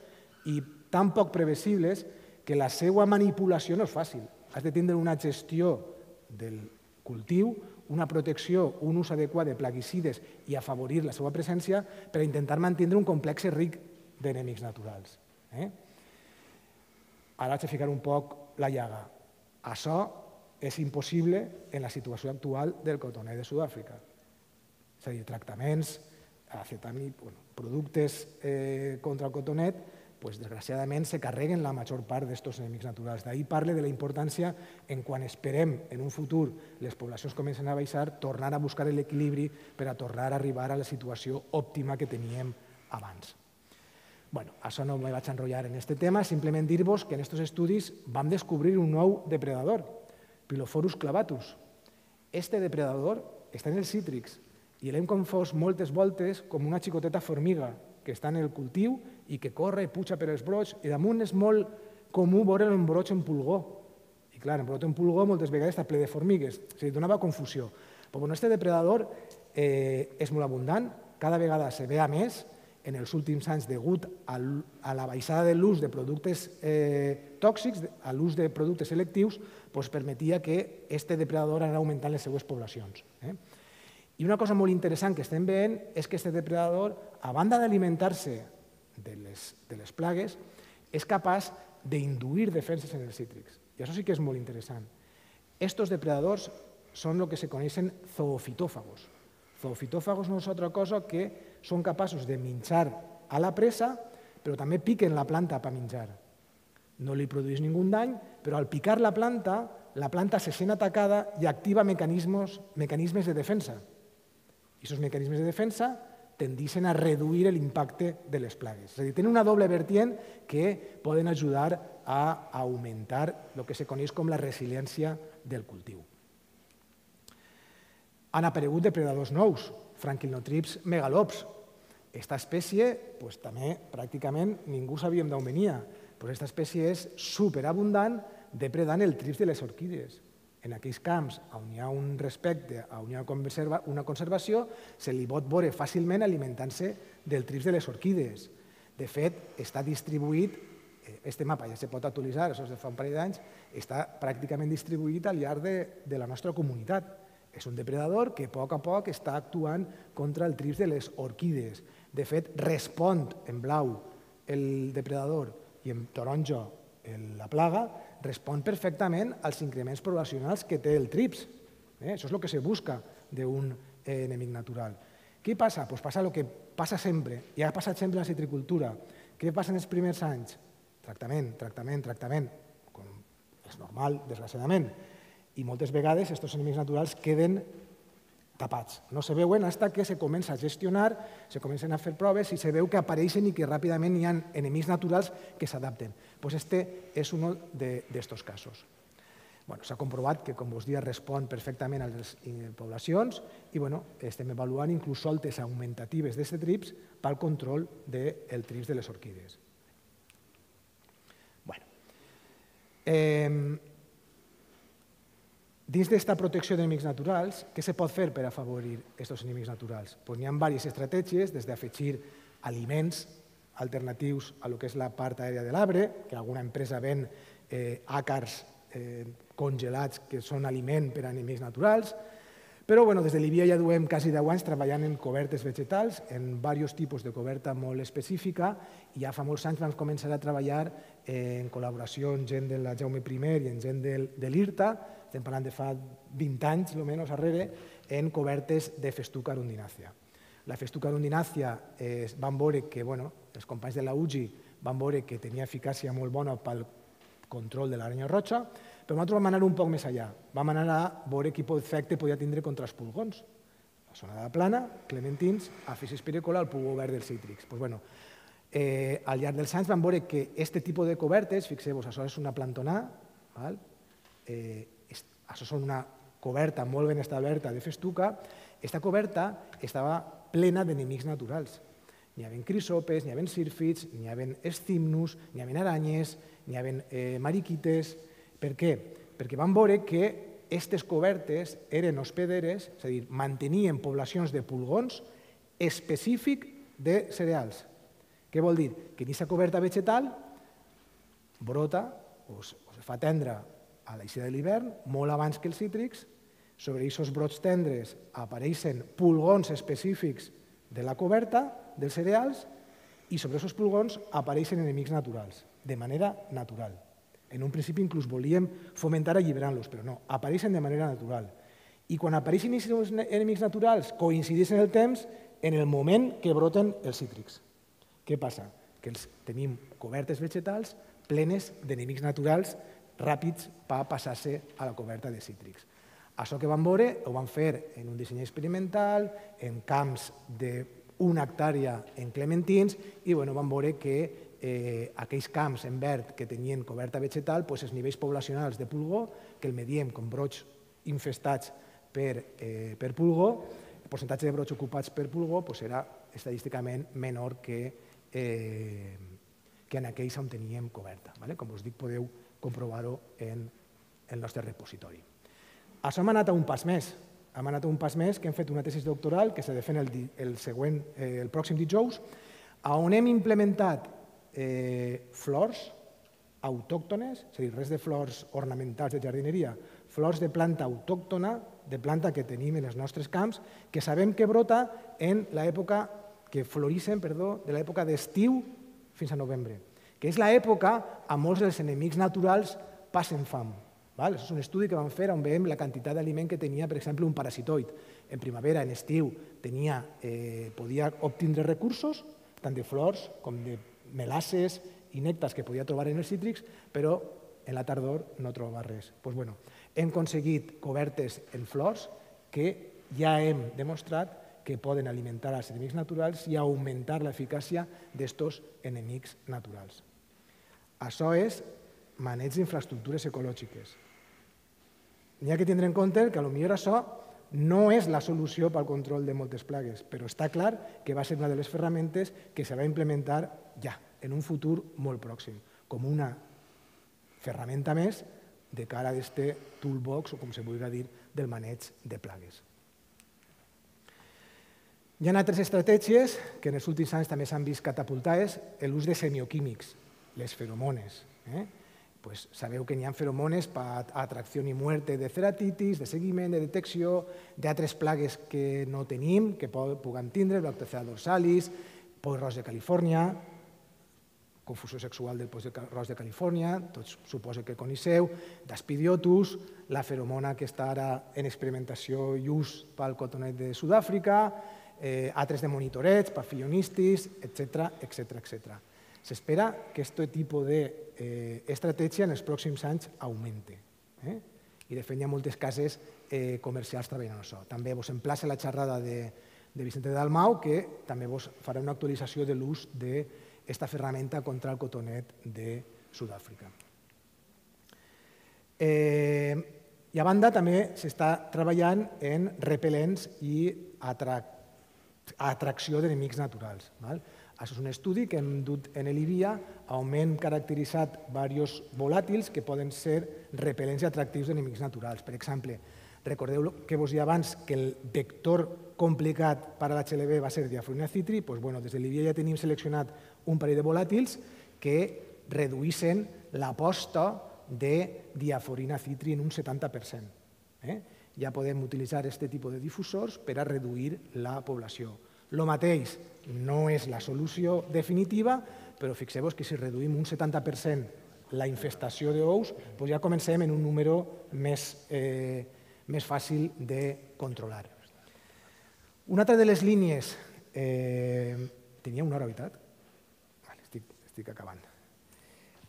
i tan poc previsibles que la seva manipulació no és fàcil. Has de tindre una gestió del cultiu, una protecció, un ús adequat de plaguicides i afavorir la seva presència per intentar mantenir un complex ric d'enemics naturals. Ara vaig a ficar un poc la llaga. Això és impossible en la situació actual del cotoner de Sud-àfrica. És a dir, tractaments, productes contra el cotonet, desgraciadament se carreguen la major part d'aquests enemics naturals. D'ahir parle de la importància en quan esperem en un futur les poblacions comencen a baixar, tornar a buscar l'equilibri per a tornar a arribar a la situació òptima que teníem abans. Bé, això no me vaig enrotllar en aquest tema, simplement dir-vos que en aquests estudis vam descobrir un nou depredador, Pilophorus clavatus. Este depredador està en els cítrics i l'hem confós moltes voltes com una xicoteta formiga que està en el cultiu i que corre i puja per els brots, i damunt és molt comú veure un broig en pulgó. I clar, en broig en pulgó moltes vegades està ple de formigues, és a dir, donava confusió. Però aquest depredador és molt abundant, cada vegada se ve a més en els últims anys degut a la baixada de l'ús de productes tòxics, a l'ús de productes selectius, permetia que aquest depredador anés augmentant les seues poblacions. I una cosa molt interessant que estem veient és que aquest depredador, a banda d'alimentar-se de les plagues, és capaç d'induir defenses en els cítrics. I això sí que és molt interessant. Estos depredadors són el que se coneixen zoofitòfagos. Zoofitòfagos no és altra cosa que són capaços de menjar a la presa, però també piquen la planta per menjar. No li produeix ningú dany, però al picar la planta, la planta se sent atacada i activa mecanismes, mecanismes de defensa. I aquests mecanismes de defensa tendeixen a reduir l'impacte de les plagues. És a dir, tenen una doble vertient que poden ajudar a augmentar el que se coneix com la resiliència del cultiu. Han aparegut depredadors nous, Franquilnotrips megalops. Aquesta espècie, pues, també pràcticament ningú sabíem d'on venia, però aquesta espècie és superabundant depredant el trips de les orquídees. En aquells camps on hi ha un respecte, on hi ha una conservació, se li pot veure fàcilment alimentant-se del trips de les orquídees. De fet, està distribuït, aquest mapa ja se pot actualitzar, això és de fa un parell d'anys, està pràcticament distribuït al llarg de la nostra comunitat. És un depredador que a poc a poc està actuant contra el trips de les orquídees. De fet, respon en blau el depredador i en taronja la plaga, respon perfectament als increments poblacionals que té el trips. Això és el que se busca d'un enemic natural. Què passa? Doncs passa el que passa sempre, i ha passat sempre a la citricultura. Què passa en els primers anys? Tractament, tractament, tractament, com és normal, desgraciadament. I moltes vegades aquests enemics naturals queden tapats. No se veuen fins que se comença a gestionar, se comencen a fer proves i se veu que apareixen i que ràpidament hi ha enemics naturals que s'adapten. Doncs este és un d'aquests casos. S'ha comprovat que, com vos dia, respon perfectament a les poblacions i estem avaluant inclús soltes augmentatives d'aquest trips pel control del trips de les orquídees. Dins d'aquesta protecció d'enemics naturals, què se pot fer per afavorir aquests enemics naturals? N'hi ha diverses estratègies, des d'afegir aliments alternatius a lo que és la part aèria de l'arbre, que alguna empresa ven àcars congelats que són aliment per a enemics naturals, però des de l'I B I A ja duem quasi deu anys treballant en cobertes vegetals, en diversos tipus de coberta molt específica, i ja fa molts anys vam començar a treballar en col·laboració amb gent de la Jaume primer i amb gent de l'I R T A, estem parlant de fa vint anys, almenys, darrere, en cobertes de Festuca arundinàcia. La Festuca arundinàcia van veure que, els companys de la U G I van veure que tenia eficàcia molt bona pel control de l'aranya roja, però nosaltres vam anar un poc més enllà. Vam anar a veure quin efecte podia tindre contra els pulgons. La zona de la plana, clementins, Aphysis pericola, el pulgó verd dels cítrics. Al llarg dels anys vam veure que aquest tipus de cobertes, fixeu-vos, això és una plantonà, això és una coberta molt ben establerta de festuca, aquesta coberta estava plena d'enemics naturals. N'hi havia crisopes, n'hi havia sírfids, n'hi havia estimnus, n'hi havia aranyes, n'hi havia mariquites. Per què? Perquè vam veure que aquestes cobertes eren hospederes, és a dir, mantenien poblacions de pulgons específic de cereals. Què vol dir? Que aquesta coberta vegetal brota o es fa tendre a l'eixida de l'hivern, molt abans que els cítrics. Sobre aquests brots tendres apareixen pulgons específics de la coberta, dels cereals, i sobre aquests pulgons apareixen enemics naturals, de manera natural. En un principi inclús volíem fomentar alliberant-los, però no, apareixen de manera natural. I quan apareixen aquests enemics naturals coincideixen en el temps en el moment que broten els cítrics. Què passa? Que tenim cobertes vegetals plenes d'enemics naturals ràpids per passar-se a la coberta de cítrics. Això que vam veure ho vam fer en un disseny experimental, en camps d'una hectàrea en clementins, i vam veure que aquells camps en verd que tenien coberta vegetal, els nivells poblacionals de pulgó, que el mediem com brots infestats per pulgó, el percentatge de brots ocupats per pulgó era estadísticament menor que en aquells on teníem coberta. Com us dic, podeu comprovar-ho en el nostre repositori. Això hem anat a un pas més. Hem anat a un pas més, que hem fet una tesi doctoral que s'ha de fer el pròxim dijous, on hem implementat flors autòctones, és a dir, res de flors ornamentals de jardineria, flors de planta autòctona, de planta que tenim en els nostres camps, que sabem que brota en l'època, que florixen, perdó, de l'època d'estiu fins a novembre. que és l'època on molts dels enemics naturals passen fam. Això és un estudi que vam fer on veiem la quantitat d'aliment que tenia, per exemple, un parasitoid. En primavera, en estiu, podia obtindre recursos, tant de flors com de melasses i nèctars que podia trobar en els cítrics, però en la tardor no trobava res. Hem aconseguit cobertes en flors que ja hem demostrat que poden alimentar els enemics naturals i augmentar l'eficàcia d'aquests enemics naturals. Això és maneig d'infraestructures ecològiques. N'hi ha que tindre en compte que potser això no és la solució pel control de moltes plagues, però està clar que va ser una de les ferramentes que se va implementar ja, en un futur molt pròxim, com una ferramenta més de cara a aquest toolbox, o com se vulgui dir, del maneig de plagues. Hi ha altres estratègies que en els últims anys també s'han vist catapultades, l'ús de semioquímics, les feromones. Sabeu que n'hi ha feromones per atracció i muerte de ceratitis, de seguiment, de detecció, d'altres plagues que no tenim, que puguem tindre, Lactocea dorsalis, poll roig de Califòrnia, confusió sexual del poll roig de Califòrnia, tots suposo que coneixeu, d'Aspidiotus, la feromona que està ara en experimentació i ús pel cotonet de Sud-àfrica, altres de monitoreig, papillonistis, etcètera. S'espera que aquest tipus d'estratègia en els pròxims anys augmenti. I, de fet, hi ha moltes cases comercials treballant en això. També vos emplaça la xerrada de Vicente Dalmau, que també vos farà una actualització de l'ús d'aquesta ferramenta contra el cotonet de Sud-àfrica. I, a banda, també s'està treballant en repel·lents i atracció d'enemics naturals. Això és un estudi que hem dut en l'I V I A on hem caracteritzat diversos volàtils que poden ser repel·lents i atractius d'enemics naturals. Per exemple, recordeu que vos deia abans que el vector complicat per a l'H L V va ser Diaforina citri, doncs des de l'I V I A ja tenim seleccionat un parell de volàtils que reduïssin l'aposta de Diaforina citri en un setanta per cent. Ja podem utilitzar aquest tipus de difusors per a reduir la població. El mateix no és la solució definitiva, però fixeu-vos que si reduïm un setanta per cent la infestació d'ous, ja comencem en un número més fàcil de controlar. Una altra de les línies... Tenia una hora, veritat? Estic acabant.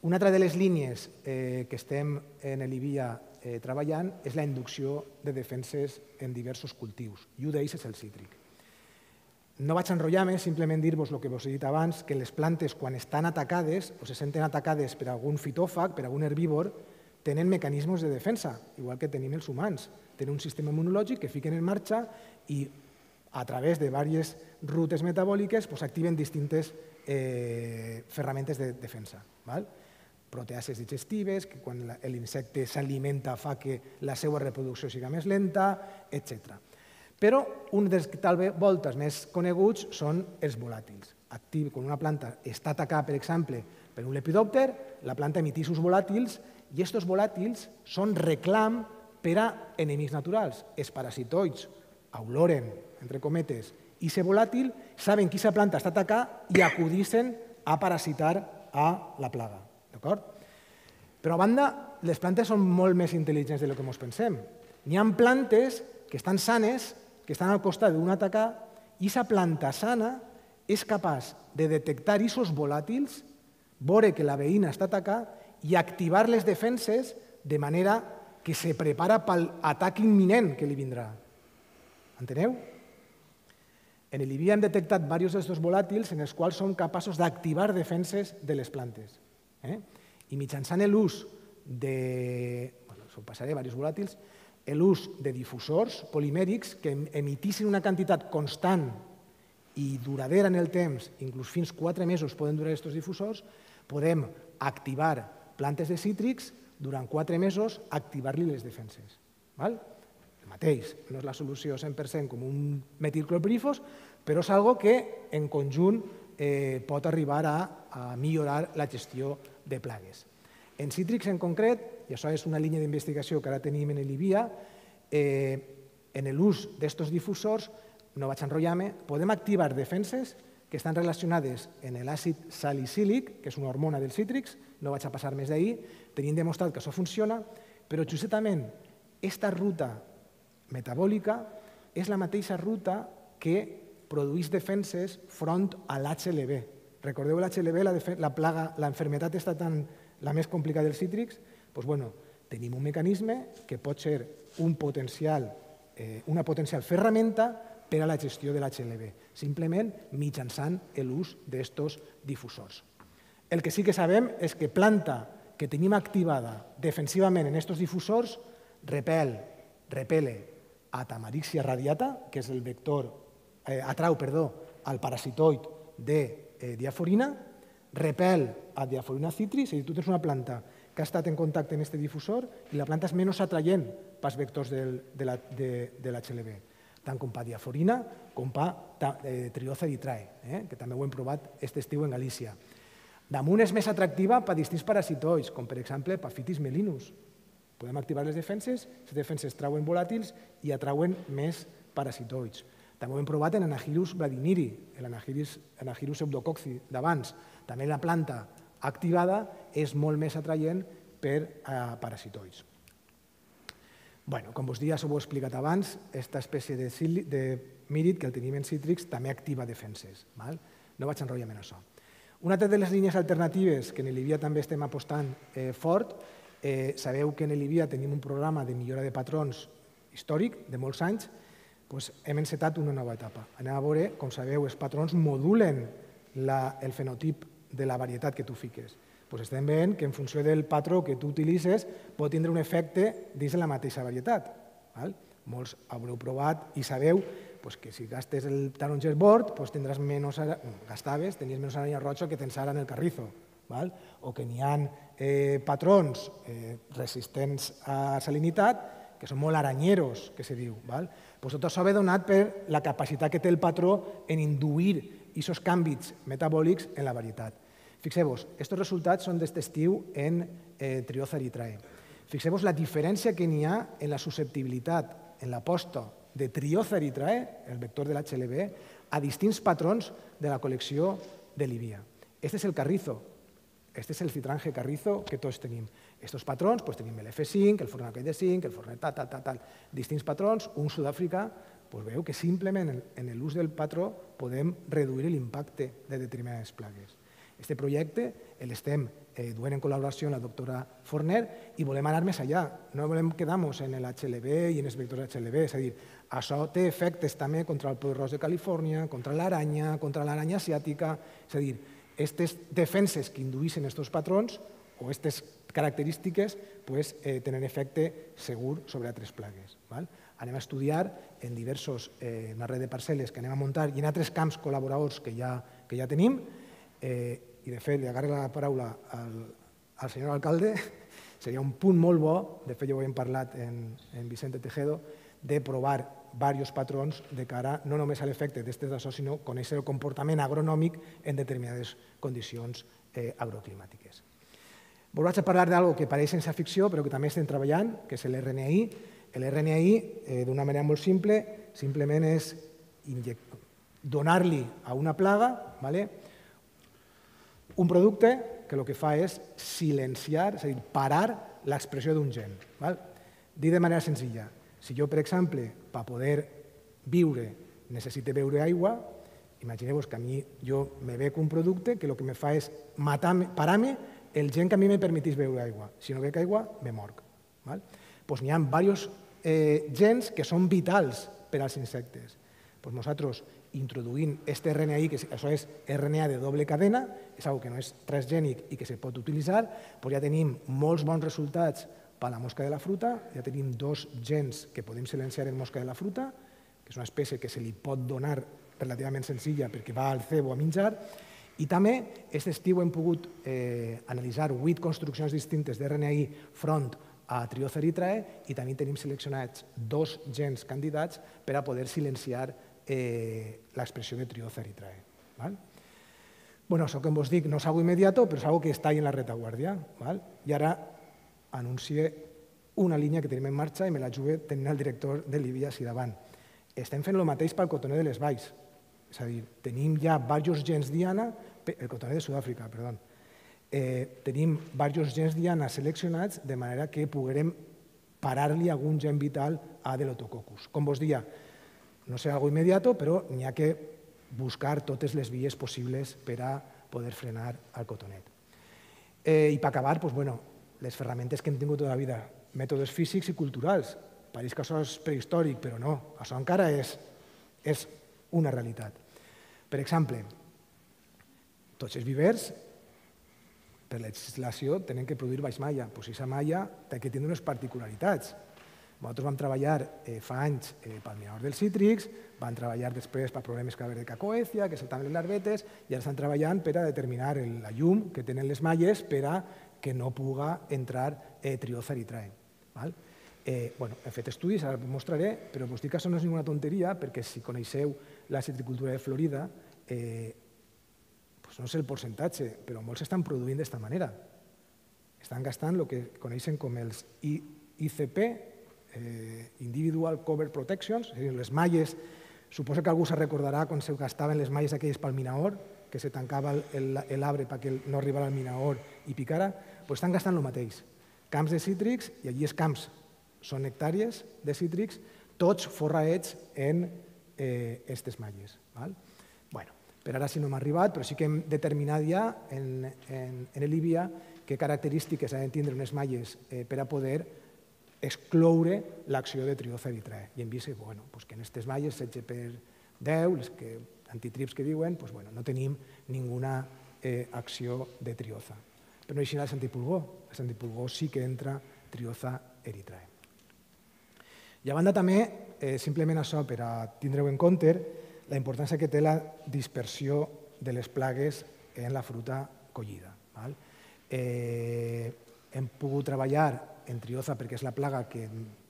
Una altra de les línies que estem en l'I V I A treballant és la inducció de defenses en diversos cultius, i un d'ells és el cítric. No vaig enrotllar-me, simplement dir-vos el que vos he dit abans, que les plantes, quan estan atacades o se senten atacades per algun fitòfag, per algun herbívor, tenen mecanismes de defensa, igual que tenim els humans. Tenen un sistema immunològic que fiquen en marxa i a través de diverses rutes metabòliques activen distintes ferramentes de defensa. Proteases digestives, que quan l'insecte s'alimenta fa que la seva reproducció sigui més lenta, etcètera. Però un dels voltes més coneguts són els volàtils. Quan una planta està atacada, per exemple, per un lepidòpter, la planta emeteix uns volàtils i aquests volàtils són reclam per a enemics naturals. Els parasitoids oloren, entre cometes, i aquest volàtil saben que aquesta planta està atacada i acudeixen a parasitar a la plaga. Però, a banda, les plantes són molt més intel·ligents del que ens pensem. N'hi ha plantes que estan sanes, que estan al costat d'un atacar, i aquesta planta sana és capaç de detectar aquests volàtils, veure que la veïna està atacada i activar les defenses de manera que se prepara per l'atac imminent que li vindrà. Enteneu? En l'I V I A hem detectat diversos d'aquests volàtils en els quals som capaços d'activar defenses de les plantes. I mitjançant l'ús de... Us passaré diversos volàtils, l'ús de difusors polimèrics que emetissin una quantitat constant i duradera en el temps, inclús fins quatre mesos poden durar aquests difusors, podem activar plantes de cítrics durant quatre mesos, activar-li les defenses. El mateix, no és la solució cent per cent com un metilclorpirifos, però és una cosa que en conjunt pot arribar a millorar la gestió de plagues. En cítrics en concret, i això és una línia d'investigació que ara tenim en l'I V I A, en l'ús d'aquests difusors, no vaig enrotllar-me, podem activar defenses que estan relacionades en l'àcid salicílic, que és una hormona dels cítrics, no vaig a passar més d'ahir, tenim demostrat que això funciona, però justament aquesta ruta metabòlica és la mateixa ruta que produeix defenses front a l'H L V. Recordeu l'H L V, la plaga, la enfermetat està tan la més complicada dels cítrics? Doncs bueno, tenim un mecanisme que pot ser un potencial, eh, una potencial ferramenta per a la gestió de l'H L V, simplement mitjançant l'ús d'estos difusors. El que sí que sabem és que planta que tenim activada defensivament en estos difusors repel, repele a Tamarixia radiata, que és el vector, eh, atrau, perdó, al parasitoid de eh, diaforina, repel a diaforina citris, és a dir, tu tens una planta que ha estat en contacte amb aquest difusor i la planta és menys atraient pels vectors del, de l'H L V, tant com per diaforina com per eh, Trioza eritrae, eh, que també ho hem provat aquest estiu en Galícia. Damunt és més atractiva per distints parasitois, com per exemple per Phytis melinus. Podem activar les defenses, les defenses trauen volàtils i atrauen més parasitoids. També ho hem provat en Anagyrus vladimiri, l'Anagyrus pseudococci d'abans. També la planta activada és molt més atraient per a parasitoids. Bueno, com vos dia, s'ho he explicat abans, aquesta espècie de mírid que el tenim en cítrics també activa defenses. No vaig enrotllar-me en això. Una altra de les línies alternatives que en l'I V I A també estem apostant fort, sabeu que en l'I V I A tenim un programa de millora de patrons històric de molts anys, hem encetat una nova etapa. Anem a veure, com sabeu, els patrons modulen el fenotip de la varietat que tu fiques. Estem veient que en funció del patró que tu utilitzes pot tindre un efecte dins de la mateixa varietat. Molts haureu provat i sabeu que si gastes el taronger bord tindràs menys, gastaves, tenies menys aranya roja que tens ara en el carrizo, o que n'hi ha patrons resistents a salinitat que són molt aranyeros, que se diu. Tot això ve donat per la capacitat que té el patró en induir aquests canvis metabòlics en la varietat. Fixeu-vos, aquests resultats són d'aquest estiu en Trioza eritrae. Fixeu-vos la diferència que n'hi ha en la susceptibilitat, en la posta de Trioza eritrae, el vector de l'H L V, a distints patrons de la col·lecció de l'I V I A. Este és el carrizo, este és el citrange carrizo que tots tenim. Estos patrons, tenim el F cinc, el fornaquell de cinc, el fornet tal, tal, tal, tal, distints patrons, un Sud-àfrica, veieu que simplement en l'ús del patró podem reduir l'impacte de determinades plagues. Aquest projecte l'estem duent en col·laboració amb la doctora Forner i volem anar més allà. No volem quedar-nos en l'H L V i en els vectors H L V, és a dir, això té efectes també contra el poll ros de Califòrnia, contra l'aranya, contra l'aranya asiàtica, és a dir, aquestes defenses que indueixen aquests patrons o aquestes característiques tenen efecte segur sobre altres plagues. Anem a estudiar en diversos, una red de parcel·les que anem a muntar i en altres camps col·laboradors que ja tenim, i de fet li agarro la paraula al senyor alcalde, seria un punt molt bo, de fet ja ho hem parlat en Vicente Tejedo, de provar diversos patrons de cara no només a l'efecte d'aquestes d'això, sinó conèixer el comportament agronòmic en determinades condicions agroclimàtiques. Vos vaig a parlar d'algo que pareix ciència ficció, però que també estem treballant, que és l'R N A I. L'R N A I, d'una manera molt simple, simplement és donar-li a una plaga un producte que el que fa és silenciar, és a dir, parar l'expressió d'un gen. Dit de manera senzilla, si jo, per exemple, per poder viure necessite beure aigua, imagineu-vos que a mi jo me bec un producte que el que me fa és parar-me el gen que a mi me permetís beure aigua. Si no bec aigua, me morc. Doncs n'hi ha diversos gens que són vitals per als insectes. Nosaltres, introduint aquest R N A I, que això és R N A de doble cadena, és una cosa que no és transgènic i que se pot utilitzar, ja tenim molts bons resultats per a la mosca de la fruta, ja tenim dos gens que podem silenciar en mosca de la fruta, que és una espècie que se li pot donar relativament senzilla perquè va al cebo a menjar, i també aquest estiu hem pogut analitzar vuit construccions distintes d'R N A I front a Trioza eritrae i també tenim seleccionats dos gens candidats per a poder silenciar l'expressió de Trioza eritrae. Això que vos dic no és algo immediato, però és algo que està en la retaguardia. I ara anuncie una línia que tenim en marxa i me la jugué tenint el director de l'I V I A així davant. Estem fent el mateix pel cotoner de les valls. És a dir, tenim ja diversos gens diana, el cotonet de Sud-àfrica, perdó, eh, tenim diversos gens diana seleccionats de manera que puguem parar-li algun gen vital a Delotococcus. Com vos dia, no serà algo immediato, però n'hi ha que buscar totes les vies possibles per a poder frenar el cotonet. Eh, I per acabar, doncs, bueno, les ferramentes que hem tingut tota la vida, mètodes físics i culturals. Pareix que això és prehistòric, però no, això encara és, és una realitat. Per exemple, tots els vivers, per legislació, tenen que produir baix malla. Doncs aquesta malla té que tenir unes particularitats. Nosaltres vam treballar eh, fa anys eh, pel minador dels cítrics, vam treballar després per problemes que va haver de cacoècia, que saltaven les larvetes, i ara estan treballant per a determinar el, la llum que tenen les malles per a que no puga entrar eh, Trioza erythrae. Val? Eh, bueno, he fet estudis, ara us mostraré, però us dic que això no és ninguna tonteria, perquè si coneixeu la citricultura de Florida, eh, pues no sé el percentatge, però molts estan produint d'aquesta manera. Estan gastant el que coneixen com els I C P, eh, Individual Cover Protections, és a dir, les malles, suposo que algú se recordarà quan se gastaven les malles aquelles pel minaor, que se tancava l'arbre perquè no arribara al minaor i picara, doncs estan gastant el mateix. Camps de cítrics, i allí els camps són hectàrees de cítrics, tots forraets en aquestes eh, malles. Val? Bueno, per ara sí no m'ha arribat, però sí que hem determinat ja en, en, en l'I B I A què característiques han de tindre unes malles eh, per a poder excloure l'acció de Trioza erythrae. I hem vist que, bueno, pues que en aquestes malles, setze per deu, les que, antitrips que diuen, pues, bueno, no tenim ninguna eh, acció de Trioza. Però no hi ha el santipulgó. El santipulgó sí que entra Trioza erythrae. I a banda també, eh, simplement això per a tindre-ho en compte, la importància que té la dispersió de les plagues en la fruita collida. Val? Eh, hem pogut treballar en Trioza perquè és la plaga que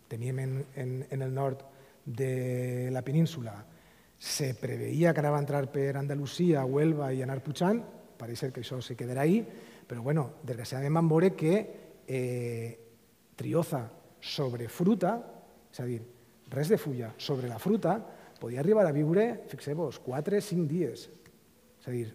teníem en, en, en el nord de la península. Se preveia que ara va entrar per Andalusia, Huelva i anar pujant, pareix que això se quedarà ahí, però bueno, desgraciadament vam veure que eh, Trioza sobre fruta, és a dir, res de fulla sobre la fruta, podia arribar a viure, fixeu-vos, quatre o cinc dies. És a dir,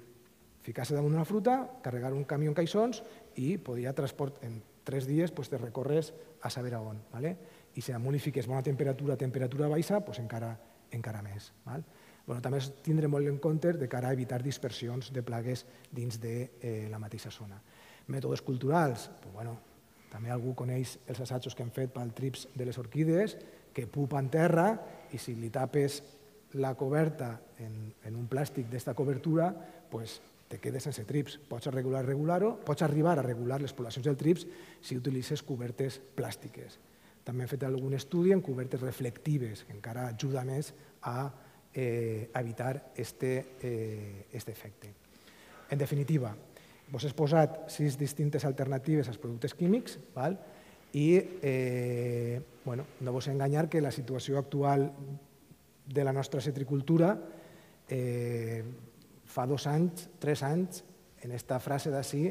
ficar-se damunt d'una fruta, carregar un camió en caixons i podia transport en tres dies pues, te recorres a saber a on. ¿vale? I si damunt li fiques bona temperatura, temperatura baixa, pues encara, encara més. Val? Bueno, també es tindre molt en compte de cara a evitar dispersions de plagues dins de eh, la mateixa zona. Mètodes culturals, pues, bueno, també algú coneix els assajos que hem fet pel trips de les orquídees, que pupa en terra i si li tapes la coberta en, en un plàstic d'esta cobertura, pues, te quedes sense trips. Pots regular, regular-ho, pots arribar a regular les poblacions del trips si utilitzes cobertes plàstiques. També hem fet algun estudi en cobertes reflectives, que encara ajuda més a eh, evitar este, eh, este efecte. En definitiva, vos he posat sis distintes alternatives als productes químics, val? i eh, bueno, no vos he enganyar que la situació actual de la nostra citricultura eh, fa dos anys, tres anys, en aquesta frase d'ací,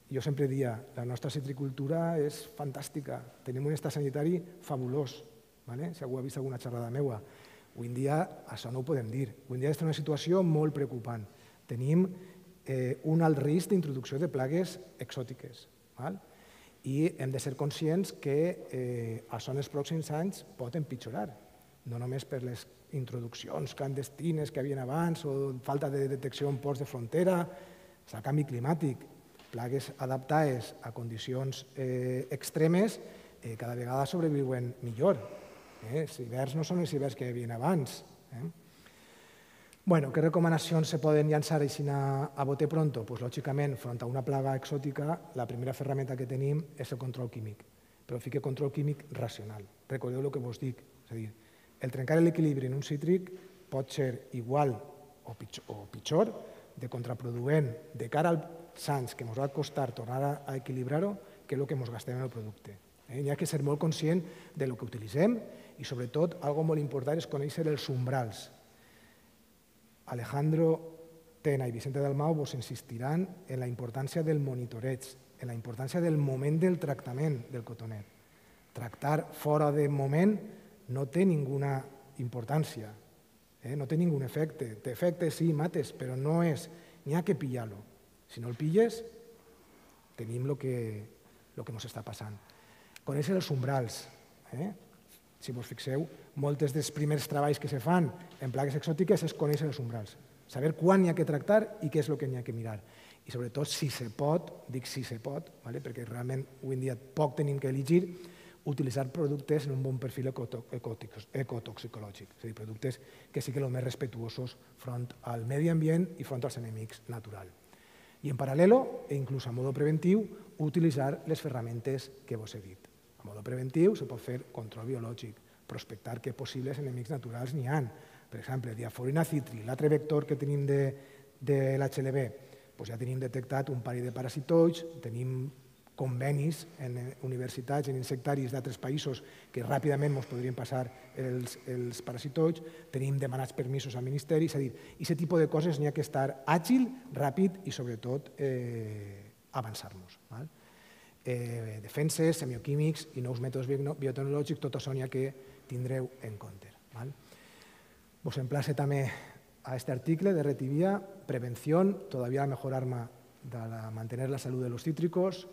jo sempre dia, la nostra citricultura és fantàstica, tenim un estat sanitari fabulós, ¿vale? Si algú ha vist alguna xerrada meua. Avui en dia això no ho podem dir, avui en dia està en una situació molt preocupant. Tenim eh, un alt risc d'introducció de plagues exòtiques, val? I hem de ser conscients que eh, això en els pròxims anys pot empitjorar, no només per les introduccions clandestines que hi havia abans o falta de detecció en ports de frontera, el canvi climàtic, plagues adaptades a condicions eh, extremes eh, cada vegada sobreviuen millor. Eh? Els hiverns no són els hiverns que hi havia abans. Eh? Bueno, què recomanacions se poden llançar així a, a bote pronto? Pues, lògicament, front a una plaga exòtica, la primera ferramenta que tenim és el control químic, però fique control químic racional. Recordeu el que vos dic, és a dir, el trencar l'equilibri en un cítric pot ser igual o pitjor, o pitjor de contraproduent de cara als anys que ens va costar tornar a equilibrar-ho que el que ens gastem en el producte. Eh? Hi ha que ser molt conscient del que utilitzem i, sobretot, algo molt important és conèixer els umbrals. Alejandro Tena i Vicente Dalmau vos insistiran en la importància del monitoreig, en la importància del moment del tractament del cotonet. Tractar fora de moment no té ninguna importància. No té ningú efecte. Té efecte, sí, mates, però no és... N'hi ha que pillar-lo. Si no el pilles, tenim el que ens està passant. Conèixer els umbrals. Si vos fixeu, molts dels primers treballs que se fan en plagues exòtiques és conèixer els umbrals. Saber quan n'hi ha que tractar i què és el que n'hi ha que mirar. I sobretot, si se pot, dic si se pot, perquè realment avui en dia poc tenim que elegir, utilitzar productes en un bon perfil ecotoxicològic, és a dir, productes que siguin els més respectuosos front al medi ambient i front als enemics naturals. I en paral·lel, i inclús a modo preventiu, utilitzar les ferramentes que vos he dit. A modo preventiu se pot fer control biològic, prospectar que possibles enemics naturals n'hi ha. Per exemple, diaforina citri, l'altre vector que tenim de l'H L V, ja tenim detectat un parell de parasitoids, tenim convenis en universitats, en insectaris d'altres països que ràpidament ens podrien passar els parasitoids, tenim demanats permisos al Ministeri, és a dir, aquest tipus de coses n'hi ha que estar àgil, ràpid i sobretot avançar-nos. Defenses, semioquímics i nous mètodes biotecnològics, tot això n'hi ha que tindreu en compte. Vos emplace també a aquest article de Retivia, prevención, todavía la mejor arma de mantener la salud de los cítricos,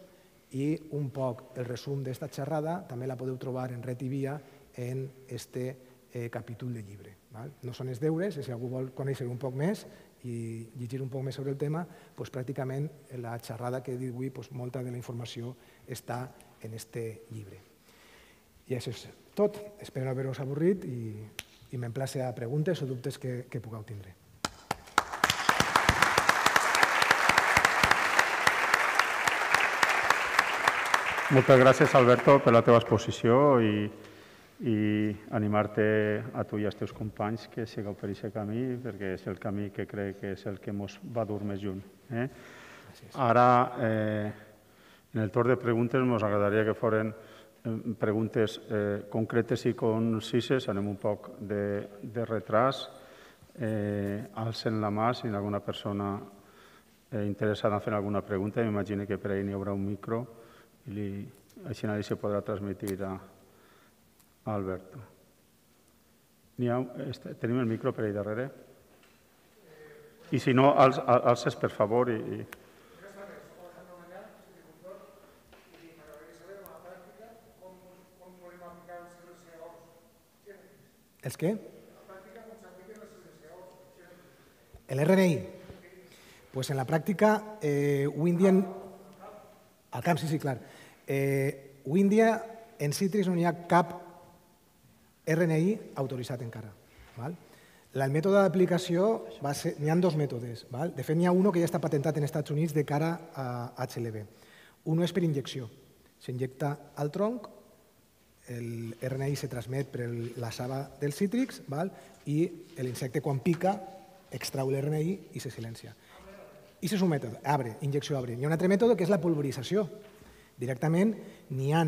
i un poc el resum d'esta xerrada també la podeu trobar en Retivia en este capítol de llibre. No són els deures, si algú vol conèixer un poc més i llegir un poc més sobre el tema, pràcticament la xerrada que he dit avui, molta de la informació està en este llibre. I això és tot. Espero no haver-vos avorrit i m'emplace a preguntes o dubtes que pugueu tindre. Moltes gràcies, Alberto, per la teva exposició i animar-te a tu i als teus companys que sigueu per aquest camí, perquè és el camí que crec que és el que ens va dur més lluny. Ara, en el torn de preguntes, ens agradaria que foren preguntes concretes i concises, anem un poc de retras. Alcen la mà si alguna persona interessada en fer alguna pregunta. M'imagino que per ahí n'hi haurà un micro i així nadie se podrà transmitir a Alberto. Tenim el micro per ahí darrere? I si no, alces per favor. Els què? L'R N I? Pues en la pràctica, avui en dia... Al camp, sí, sí, clar. Avui en dia, en cítrics no hi ha cap R N I autoritzat encara. El mètode d'aplicació, n'hi ha dos mètodes. De fet, n'hi ha un que ja està patentat en Estats Units de cara a H L V. Un és per injecció. S'injecta al tronc, el R N I se transmet per la saba dels cítrics i l'insecte, quan pica, extrau l'R N I i se silencia. I és un mètode, arbre, injecció arbre. Hi ha un altre mètode que és la pulverització. Directament n'hi ha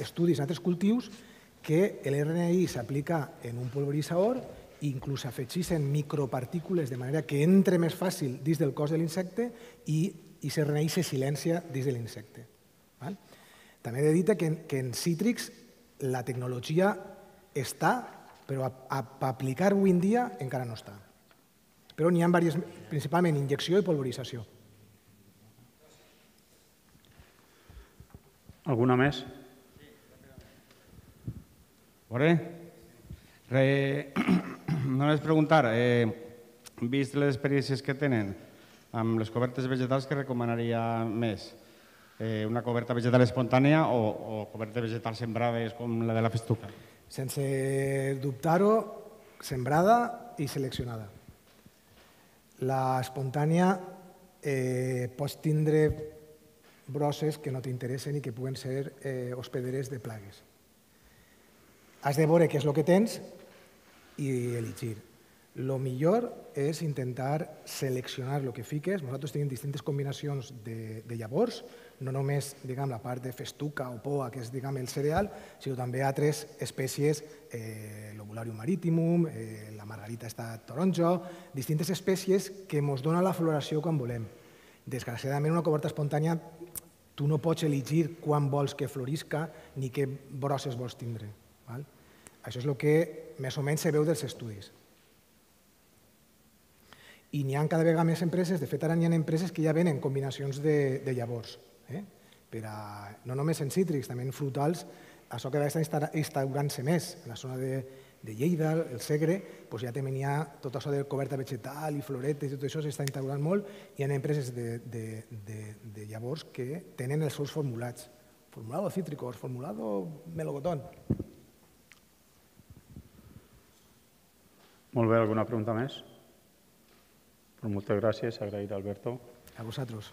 estudis en altres cultius que l'R N I s'aplica en un pulveritzador i inclús afegeixen micropartícules de manera que entre més fàcil dins del cos de l'insecte i aquest R N I se silencia dins de l'insecte. També he de dir que en cítrics la tecnologia està, però per aplicar avui en dia encara no està. Però n'hi ha diverses, principalment injecció i pulverització. Alguna més? Bona. Només preguntar, vist les experiències que tenen amb les cobertes vegetals, què recomanaria més? Una coberta vegetal espontània o cobertes vegetals sembrades com la de la festuca? Sense dubtar-ho, sembrada i seleccionada. La espontània pots tindre brosses que no t'interessen i que puguen ser hospederes de plagues. Has de veure què és el que tens i elegir. El millor és intentar seleccionar el que fiques. Nosaltres tenim distintes combinacions de llavors, no només la part de festuca o poa, que és el cereal, sinó també altres espècies, l'Ovularium maritimum, la margarita està taronja, distintes espècies que ens donen la floració quan volem. Desgraciadament, una coberta espontània, tu no pots elegir quan vols que florisca ni què brosses vols tindre. Això és el que més o menys se veu dels estudis. I n'hi ha cada vegada més empreses, de fet ara n'hi ha empreses que ja venen combinacions de, de llavors. Eh? Per a, no només en cítrics, també en frutals, això que està instaurant-se més. En la zona de, de Lleida, el Segre, doncs ja també n'hi ha tot això de coberta vegetal i floretes i tot això s'està instaurant molt. Hi ha empreses de, de, de, de llavors que tenen els seus formulats. Formulado cítricos, formulado melocotón. Molt bé, alguna pregunta més? Pues moltes gràcies, agrair a Alberto. A vosaltres.